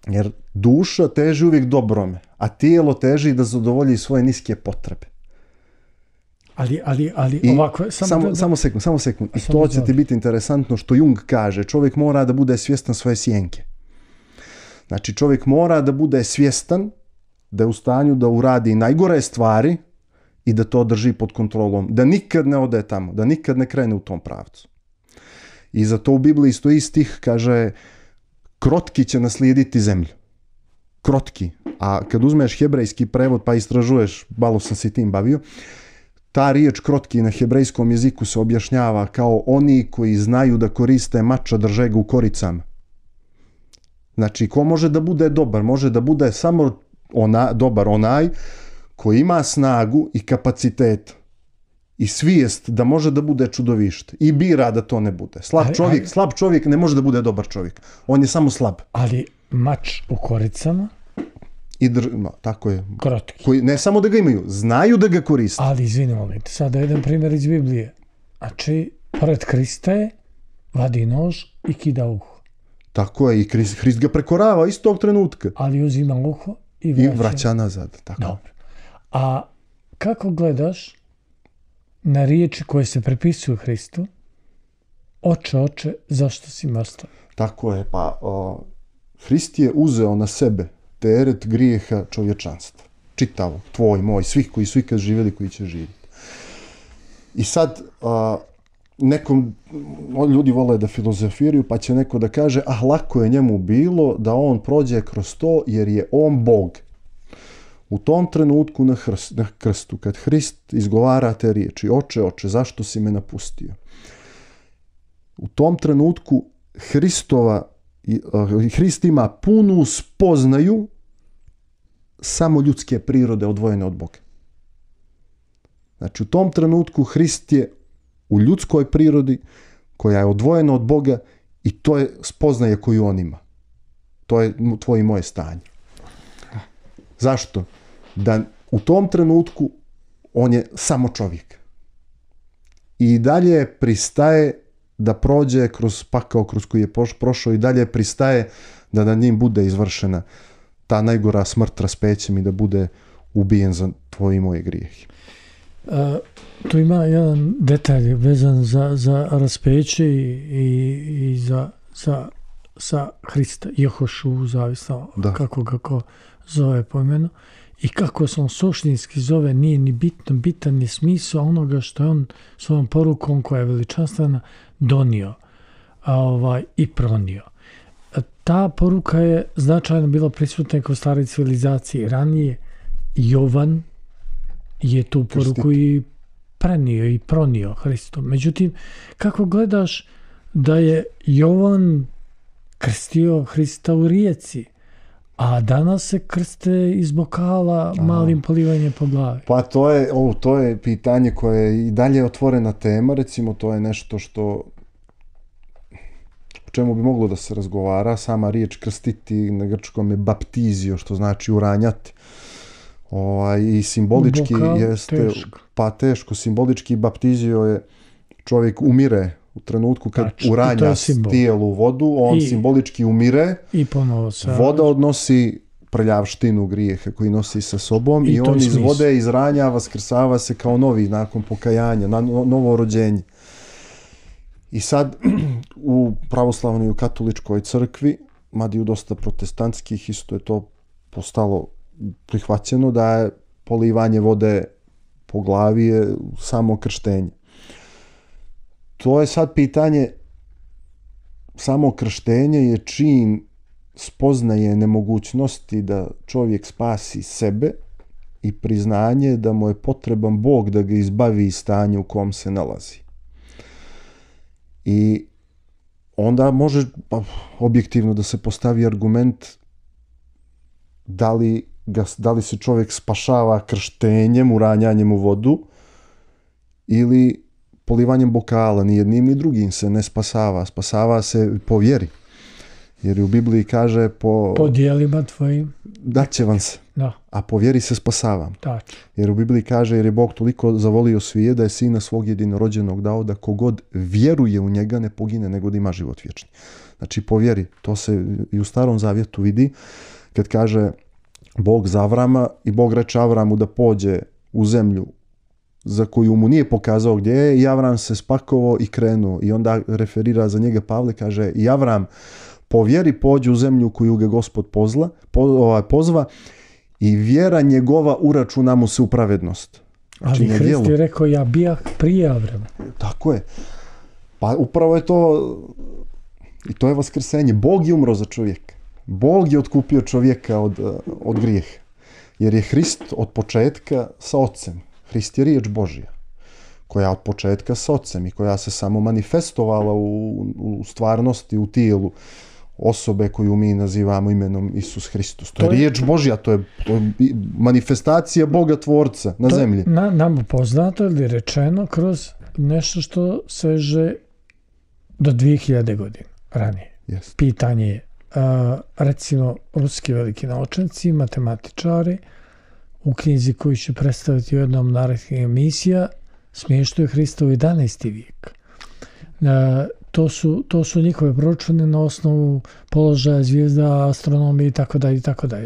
jer duša teži uvijek dobrome, a tijelo teži da zadovolji svoje niske potrebe. Ali ovako... Samo sekund. I to će ti biti interesantno što Jung kaže. Čovjek mora da bude svjestan svoje sjenke. Znači, čovjek mora da bude svjestan da je u stanju da uradi najgore stvari i da to drži pod kontrolom. Da nikad ne ode tamo, da nikad ne krene u tom pravcu. I zato u Bibliji stoji stih, kaže, krotki će naslijediti zemlju. Krotki. A kad uzmeš hebrejski prevod pa istražuješ, malo sam se tim bavio, ta riječ krotki na hebrejskom jeziku se objašnjava kao oni koji znaju da koriste mač, a drže ga u koricama. Znači, ko može da bude dobar? Može da bude samo dobar onaj koji ima snagu i kapacitet i svijest da može da bude čudovište i bira da to ne bude. Slab čovjek ne može da bude dobar čovjek. On je samo slab. Ali mač u koricama? Tako je. Krotki. Koji ne samo da ga imaju, znaju da ga koriste. Ali izvini, molim te, sada jedan primjer iz Biblije. Znači, pored Krista je vadi nož i kida uho. Tako je, i Hrist ga prekorava istog trenutka. Ali uzima uho i vraća nazad. Tako. Dobro. A kako gledaš na riječi koje se prepisuju Hristu? Oče, zašto si mrtav? Tako je, pa Hrist je uzeo na sebe teret grijeha čovječanstva. Čitavo, tvoj, moj, svih koji su ikad živjeli, koji će živjeti. I sad, ljudi vole da filozofiraju, pa će neko da kaže, lako je njemu bilo da on prođe kroz to, jer je on Bog. U tom trenutku na krstu, kad Hrist izgovara te riječi, oče, zašto si me napustio? U tom trenutku Hrist ima punu spoznaju samo ljudske prirode odvojene od Boga. Znači, u tom trenutku Hrist je u ljudskoj prirodi koja je odvojena od Boga i to je spoznaje koju on ima. To je tvoje i moje stanje. Zašto? Da u tom trenutku on je samo čovjek. I dalje pristaje da prođe kroz pakao kroz koji je prošao i dalje pristaje da nad njim bude izvršena ta najgora smrt raspećem i da bude ubijen za tvoje i moje grijehe. Tu ima jedan detalj vezan za raspeće i za Hrista, Jehošu, zavisno kako ga ko zove po imenu. I kako se on suštinski zove, nije ni bitan je smisao onoga što je on svojom porukom koja je veličanstvena donio i pronio. Ta poruka je značajno bila prisutna kroz stare civilizacije. Ranije Jovan je tu poruku i prenio i pronio Hristom. Međutim, kako gledaš da je Jovan krstio Hrista u rijeci, a danas se krste iz bokala malim polivanjem po glavi? Pa to je pitanje koje je i dalje otvorena tema. Recimo, to je nešto što o čemu bi moglo da se razgovara. Sama riječ krstiti na grčkom je baptizio, što znači uranjati. I simbolički jeste teško. Simbolički baptizio je čovjek umire u trenutku kad uranja tijelu u vodu, on simbolički umire. I ponovo se voda odnosi prljavštinu grijeha koji nosi sa sobom i on iz vode izranja, vaskrsava se kao novi nakon pokajanja, novo rođenje. I sad u pravoslavnoj i u katoličkoj crkvi, mada i u dosta protestantskih, isto je to postalo prihvaćeno da je polivanje vode po glavi je samo krštenje. To je sad pitanje, samo krštenje je čin spoznaje nemogućnosti da čovjek spasi sebe i priznanje da mu je potreban Bog da ga izbavi iz stanja u kom se nalazi. I onda može objektivno da se postavi argument da li se čovjek spašava krštenjem, uranjanjem u vodu ili polivanjem bokala. Ni jednim ni drugim se ne spasava. Spasava se po vjeri. Jer u Bibliji kaže po djelima tvojim daće vam se, a po vjeri se spasavam. Tačno. Jer u Bibliji kaže jer je Bog toliko zavolio svijet da je sina svog jedinorođenog dao da kogod vjeruje u njega ne pogine nego da ima život vječni. Znači po vjeri, to se i u Starom Zavjetu vidi kad kaže Bog za Avrama i Bog reče Avramu da pođe u zemlju za koju mu nije pokazao gdje je i Avram se spakovao i krenuo i onda referira za njega Pavle, kaže i Avram po vjeri pođe u zemlju koju ga Gospod pozva i vjera njegova uračuna mu se u pravednost. Znači, ali Hrist je rekao ja bijah prije Avrama. Tako je. Pa upravo je to i to je vaskrsenje. Bog je umro za čovjeka. Bog je otkupio čovjeka od grijeha. Jer je Hrist od početka sa Otcem. Hrist je riječ Božja koja od početka sa Otcem i koja se samo manifestovala u stvarnosti, u tijelu osobe koju mi nazivamo imenom Isus Hristos. To je riječ Božja, to je manifestacija Boga Tvorca na zemlji. Nam poznato ili rečeno kroz nešto što seže do 2000 godina ranije. Yes. Pitanje je, recimo, ruski veliki naučnici, matematičari, u knjizi koju će predstaviti u jednom narednih emisija, smještaju Hrista u 11. vijek. To su njihove proračune na osnovu položaja zvijezda, astronomije itd.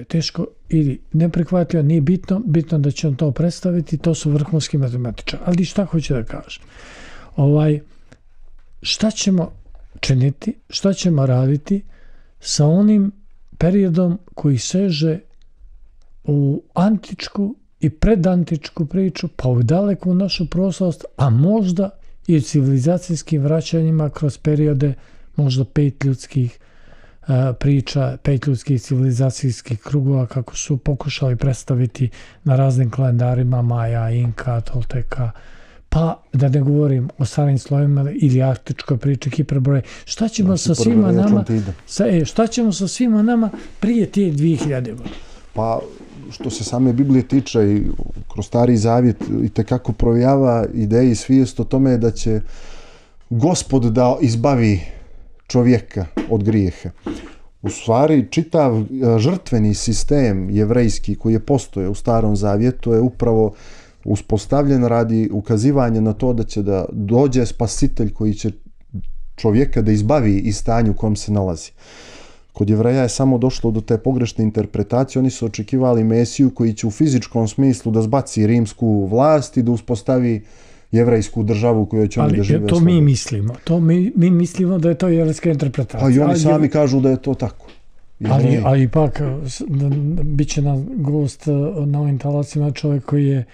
Teško ili neprihvatljivo, nije bitno da će on to predstaviti, to su vrhunski matematičari. Ali šta hoću da kažem? Šta ćemo činiti, šta ćemo raditi sa onim periodom koji seže u antičku i predantičku priču, pa u daleku našu prošlost, a možda i u civilizacijskim vraćanjima kroz periode možda 5 ljudskih priča, 5 ljudskih civilizacijskih krugova kako su pokušali predstaviti na raznim kalendarima Maja, Inka, Tolteka, pa da ne govorim o starim slovima ili arktičkoj priči Hiperbore. Šta ćemo sa svima nama? Šta ćemo sa svima nama prije tije 2000 godina? Pa što se same Biblije tiče i kroz Stari Zavjet itekako provjava ideje i svijest o tome da će Gospod da izbavi čovjeka od grijeha. U stvari čitav žrtveni sistem jevrejski koji je postojao u Starom Zavjetu je upravo uspostavljen radi ukazivanja na to da će da dođe spasitelj koji će čovjeka da izbavi iz stanja u kojem se nalazi. Kod Jevreja je samo došlo do te pogrešne interpretacije, oni su očekivali Mesiju koji će u fizičkom smislu da zbaci rimsku vlast i da uspostavi jevrejsku državu koju će oni da žive. Ali to mi mislimo. Mi mislimo da je to jevrejska interpretacija. Pa i oni sami kažu da je to tako. Ali ipak bit će nam gost na ovim talacijama čovjek koji je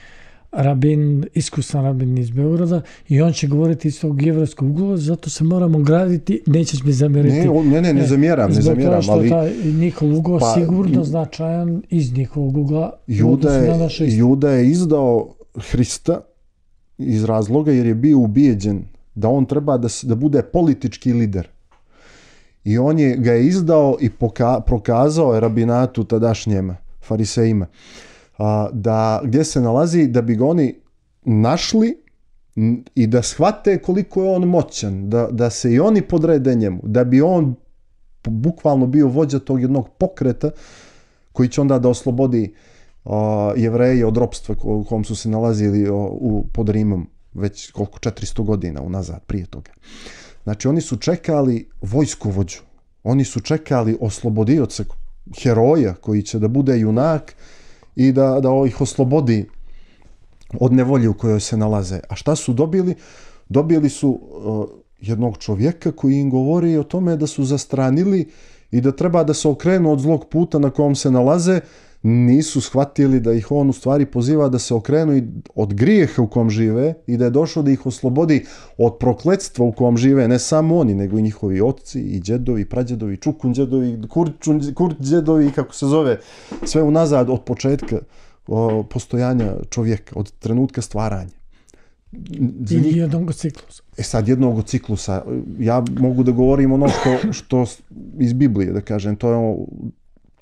iskusan rabin iz Beograda i on će govoriti iz tog jevrejskog ugla, zato se moramo graditi, nećeš mi zamjeriti. Ne zamjeram. Zbog toga što taj njihov ugao sigurno značajan iz njihovog ugla. Juda je izdao Hrista iz razloga jer je bio ubijeđen da on treba da bude politički lider. I on ga je izdao i prokazao je rabinatu tadašnjema, farisejima, gdje se nalazi da bi ga oni našli i da shvate koliko je on moćan, da se i oni podrede njemu, da bi on bukvalno bio vođa tog jednog pokreta koji će onda da oslobodi Jevreje od ropstva u kom su se nalazili pod Rimom već 400 godina unazad prije toga. Znači oni su čekali vojskovođu, oni su čekali oslobodioca, heroja koji će da bude junak i da ih oslobodi od nevolje u kojoj se nalaze. A šta su dobili? Dobili su jednog čovjeka koji im govori o tome da su zastranili i da treba da se okrenu od zlog puta na kojem se nalaze. Nisu shvatili da ih on u stvari poziva da se okrenu i od grijeha u kom žive i da je došao da ih oslobodi od prokletstva u kom žive, ne samo oni, nego i njihovi oci i djedovi, prađedovi, čukun djedovi, kurt djedovi, kako se zove, sve unazad od početka postojanja čovjeka, od trenutka stvaranja. Ili jednog ciklusa. Sad jednog ciklusa. Ja mogu da govorim ono što iz Biblije, da kažem. To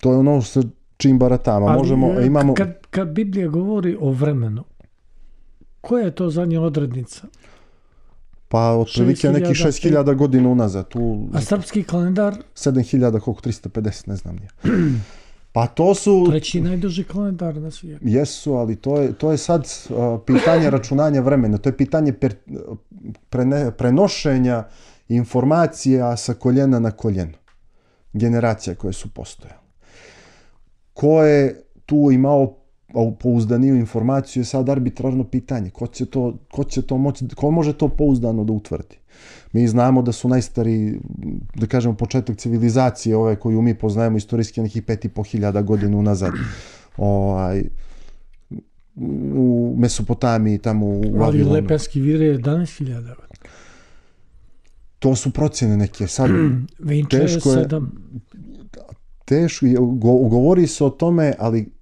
je ono sa čim baratama. Ali kad Biblija govori o vremenu, koja je to zadnja odrednica? Pa otprilike neki 6000 godina unazad. A srpski kalendar? 7000, koliko, 350, ne znam nije. Pa to su... Treći najduži kalendar na svijetu. Jesu, ali to je sad pitanje računanja vremena. To je pitanje prenošenja informacija sa koljena na koljeno. Generacija koje su postojale. Ko je tu imao pouzdaniju informaciju je sad arbitrarno pitanje. Ko može to pouzdano da utvrdi? Mi znamo da su najstariji, da kažemo, početak civilizacije, ove koju mi poznajemo istorijski, nekih 5500 godina unazad. U Mesopotamiji, tamo u Vavilonu. Ali Lepenski vir je 11.000 godina. To su procjene neke. Sad, Vinče je 7. Teško je, govori se o tome, ali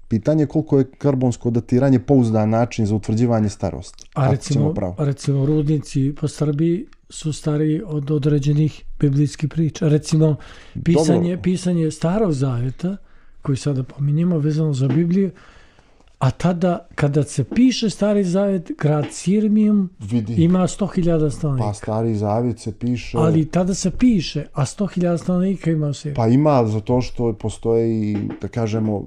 pitanje je koliko je karbonsko datiranje pouzdan način za utvrđivanje starosti. A recimo rudnici po Srbiji su stariji od određenih biblijskih priča. Recimo pisanje Starog Zavjeta, koji sada pominjemo vezano za Bibliju, a tada kada se piše Stari Zavjet, grad Sirmijum ima 100.000 stanovnika. Pa Stari Zavjet se piše... Ali tada se piše, a 100.000 stanovnika ima u Sirmiju. Pa ima, zato što postoji, da kažemo,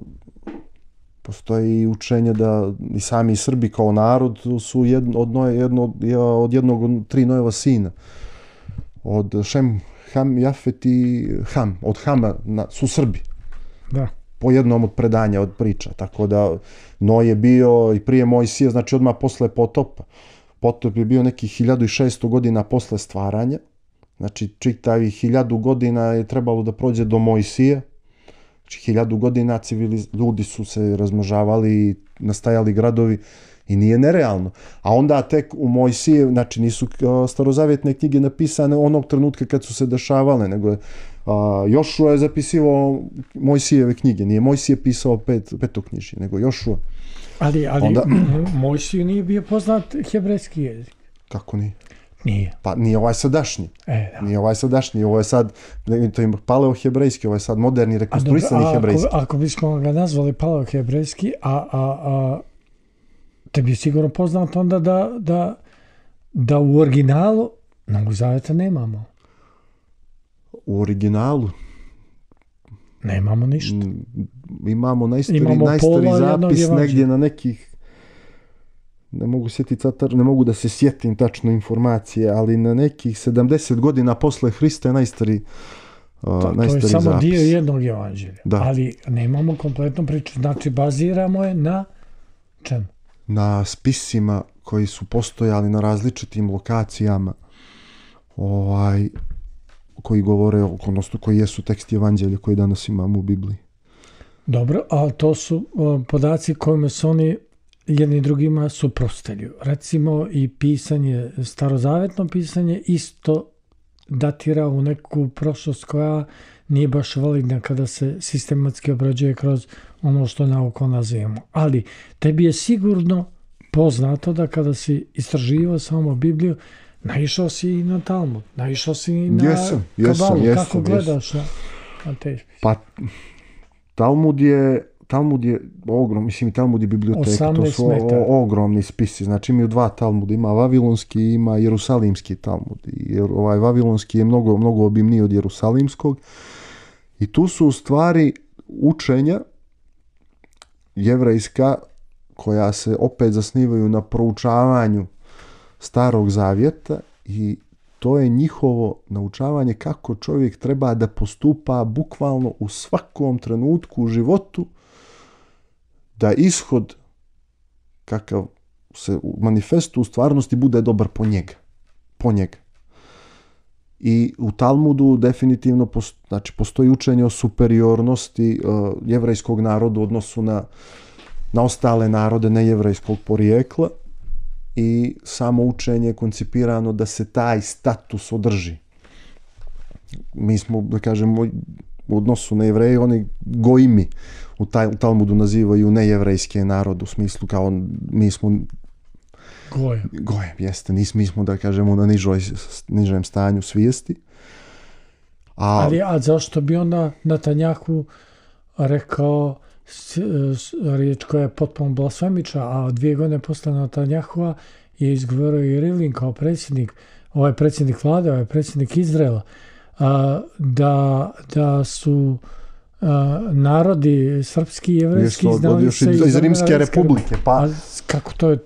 postoji učenje da i sami Srbi kao narod su od jednog od 3 Nojeva sina. Od Šem, Ham, Jafet i Ham. Od Hama su Srbi. Da. Po jednom od predanja, od priča. Tako da Noj je bio i prije Mojsija, znači odmah posle potopa. Potop je bio nekih 1600 godina posle stvaranja. Znači čitavih 1000 godina je trebalo da prođe do Mojsija. Znači 1000 godina ljudi su se razmnožavali, nastajali gradovi i nije nerealno. A onda tek u Mojsije, znači nisu starozavjetne knjige napisane onog trenutka kad su se dešavale, nego je Jošua je zapisivao Mojsijeve knjige. Nije Mojsije pisao petoknjižje, nego Jošua. Ali Mojsiju nije bio poznat hebrejski jezik. Kako nije? Nije. Pa nije ovaj sadašnji. Da. Nije ovaj sadašnji, ovo je sad, to je paleo-hebrejski, ovo je sad moderni, rekonstruisani hebrejski. Ako bismo ga nazvali paleo-hebrejski, tebi je sigurno poznato onda da u originalu Novog Zavjeta nemamo. U originalu? Nemamo ništa. Imamo najstari zapis negdje na nekih, ne mogu da se sjetim tačno informacije, ali na nekih 70 godina posle Hrista je najstari zapis. To je samo dio jednog evanđelja. Ali nemamo kompletnu priču. Znači, baziramo je na čemu? Na spisima koji su postojali na različitim lokacijama, koji govore, odnosno koji jesu teksti evanđelja koji danas imamo u Bibliji. Dobro, ali to su podaci kojima se oni jedni drugima suprotstavljaju. Recimo i pisanje, starozavetno pisanje isto datira u neku prošlost koja nije baš validna kada se sistematski obrađuje kroz ono što naukom nazivamo. Ali tebi je sigurno poznato da kada si istraživao samo Bibliju, naišao si i na Talmud, naišao si i na Kabalu. Kako gledaš na te spise? Pa, Talmud je ogrom, mislim i Talmud je biblioteka, to su ogromni spisi, znači imaju 2 Talmuda, ima Vavilonski i ima Jerusalimski Talmud. Ovaj Vavilonski je mnogo obimniji od Jerusalimskog i tu su u stvari učenja jevrejska koja se opet zasnivaju na proučavanju Starog Zavjeta i to je njihovo naučavanje kako čovjek treba da postupa bukvalno u svakom trenutku u životu, da ishod kakav se manifestu u stvarnosti bude dobar po njega. I u Talmudu definitivno postoji učenje o superiornosti jevrejskog naroda u odnosu na ostale narode nejevrejskog porijekla i samo učenje je koncipirano da se taj status održi. Mi smo, da kažemo, u odnosu na Jevreje, oni gojimi u Talmudu nazivaju nejevrejske narode, u smislu kao mi smo Gojem, jeste. Mi smo, da kažemo, na nižem stanju svijesti. Ali zašto bi onda Netanjahu rekao riječ koja je potpuno blasfemična, a 2 godine posle Netanjahua je izgovorio i Rivlin kao predsjednik, ovaj predsjednik vlade, ovaj predsjednik Izraela, da su narodi srpski i jevrejski znali se iz Rimske republike. Pa kako to je?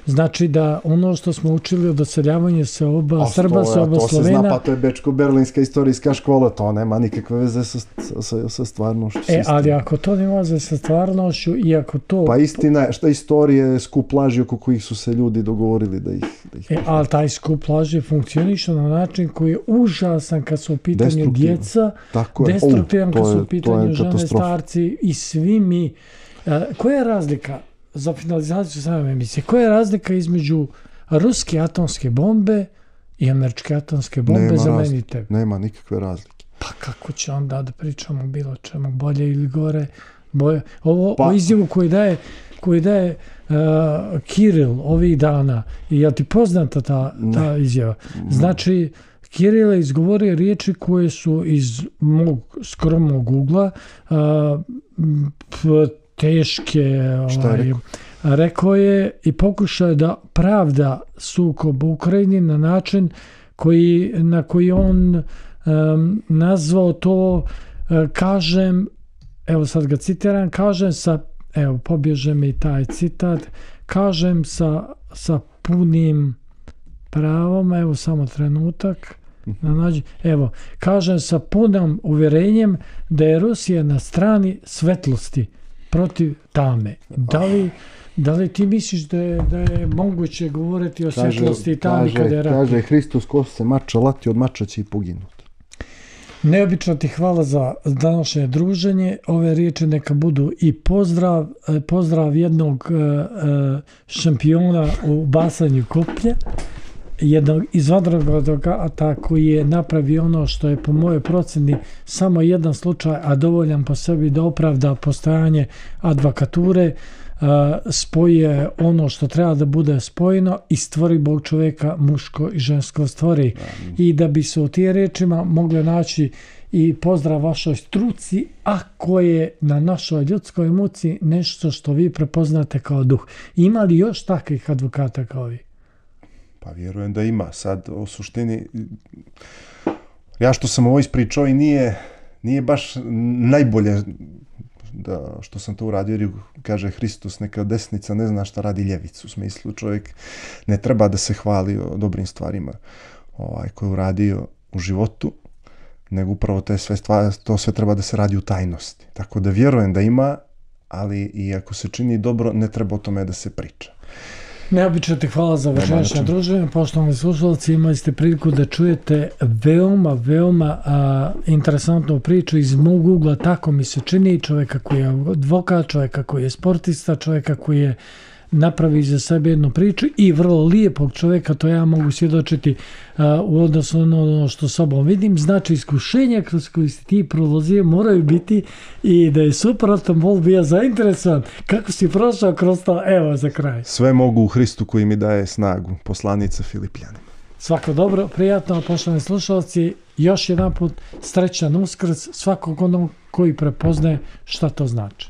Znači da ono što smo učili od doseljavanja se oba Srba, se oba Slovena... To se zna, pa to je Bečko-Berlinska istorijska škola, to nema nikakve veze sa stvarnošću. Ali ako to nema veze sa stvarnošću i ako to... Pa istina je, šta istorije je skup laži oko kojih su se ljudi dogovorili da ih... Ali taj skup laži funkcioniše na način koji je užasan kad su u pitanju djeca, destruktivan kad su u pitanju žene, starci i svi mi. Koja je razlika, za finalizaciju same emisije, koja je razlika između ruske atomske bombe i američke atomske bombe za meni i tebe? Nema nikakve razlike. Pa kako će onda da pričamo bilo čemu, bolje ili gore? O izjavu koju daje Kiril ovih dana, je li ti poznata ta izjava? Znači, Kiril je izgovorio riječi koje su iz mog skromnog ugla teške. Rekao je i pokušao je da pravda sukob u Ukrajini na način na koji on nazvao to, kažem, evo sad ga citiram, kažem pobježe mi taj citat, kažem sa punim pravom, evo samo trenutak, kažem sa punim uvjerenjem da je Rusija na strani svetlosti protiv tame. Da li ti misliš da je moguće govoriti o svetlosti i tami kada je rat? Kaže Hristos, ko se mača lati, od mača će i poginuti. Neobično ti hvala za današnje druženje. Ove riječi neka budu i pozdrav jednog šampiona u basanju koplja, jednog izvanrednog ata koji je napravio ono što je po mojoj procjeni samo jedan slučaj, a dovoljan po sebi da opravda postojanje advokature, spoje ono što treba da bude spojeno i stvori Bog čovjeka, muško i žensko stvori. I da bi se u tije rečima mogle naći i pozdrav vašoj struci, ako je na našoj ljudskoj muci nešto što vi prepoznate kao duh. Ima li još takvih advokata kao vi? Pa vjerujem da ima. Sad, u suštini, ja što sam ovo ispričao i nije baš najbolje što sam to uradio, jer kaže Hristos, neka desnica ne zna šta radi ljevicu. U smislu, čovjek ne treba da se hvali o dobrim stvarima koje je uradio u životu, nego upravo to sve treba da se radi u tajnosti. Tako da vjerujem da ima, ali i ako se čini dobro, ne treba o tome da se priča. Neobično ti hvala za večerašnje druženje. Poštovani slušalci, imali ste priliku da čujete veoma interesantnu priču iz mog ugla, tako mi se čini, čovjeka koji je advokat, čovjeka koji je sportista, čovjeka koji je napravi za sebe jednu priču i vrlo lijepog čovjeka, to ja mogu svjedočiti u odnosu na ono što sobom vidim. Znači, iskušenja kroz koje si ti prolazio moraju biti i da je suprotno bol bio zainteresovan. Kako si prošao kroz to? Evo za kraj. Sve mogu u Hristu koji mi daje snagu. Poslanica Filipljanima. Svako dobro, prijatno, poštovani slušalci. Još jedan put srećan Uskrs svakog onog koji prepoznaje šta to znači.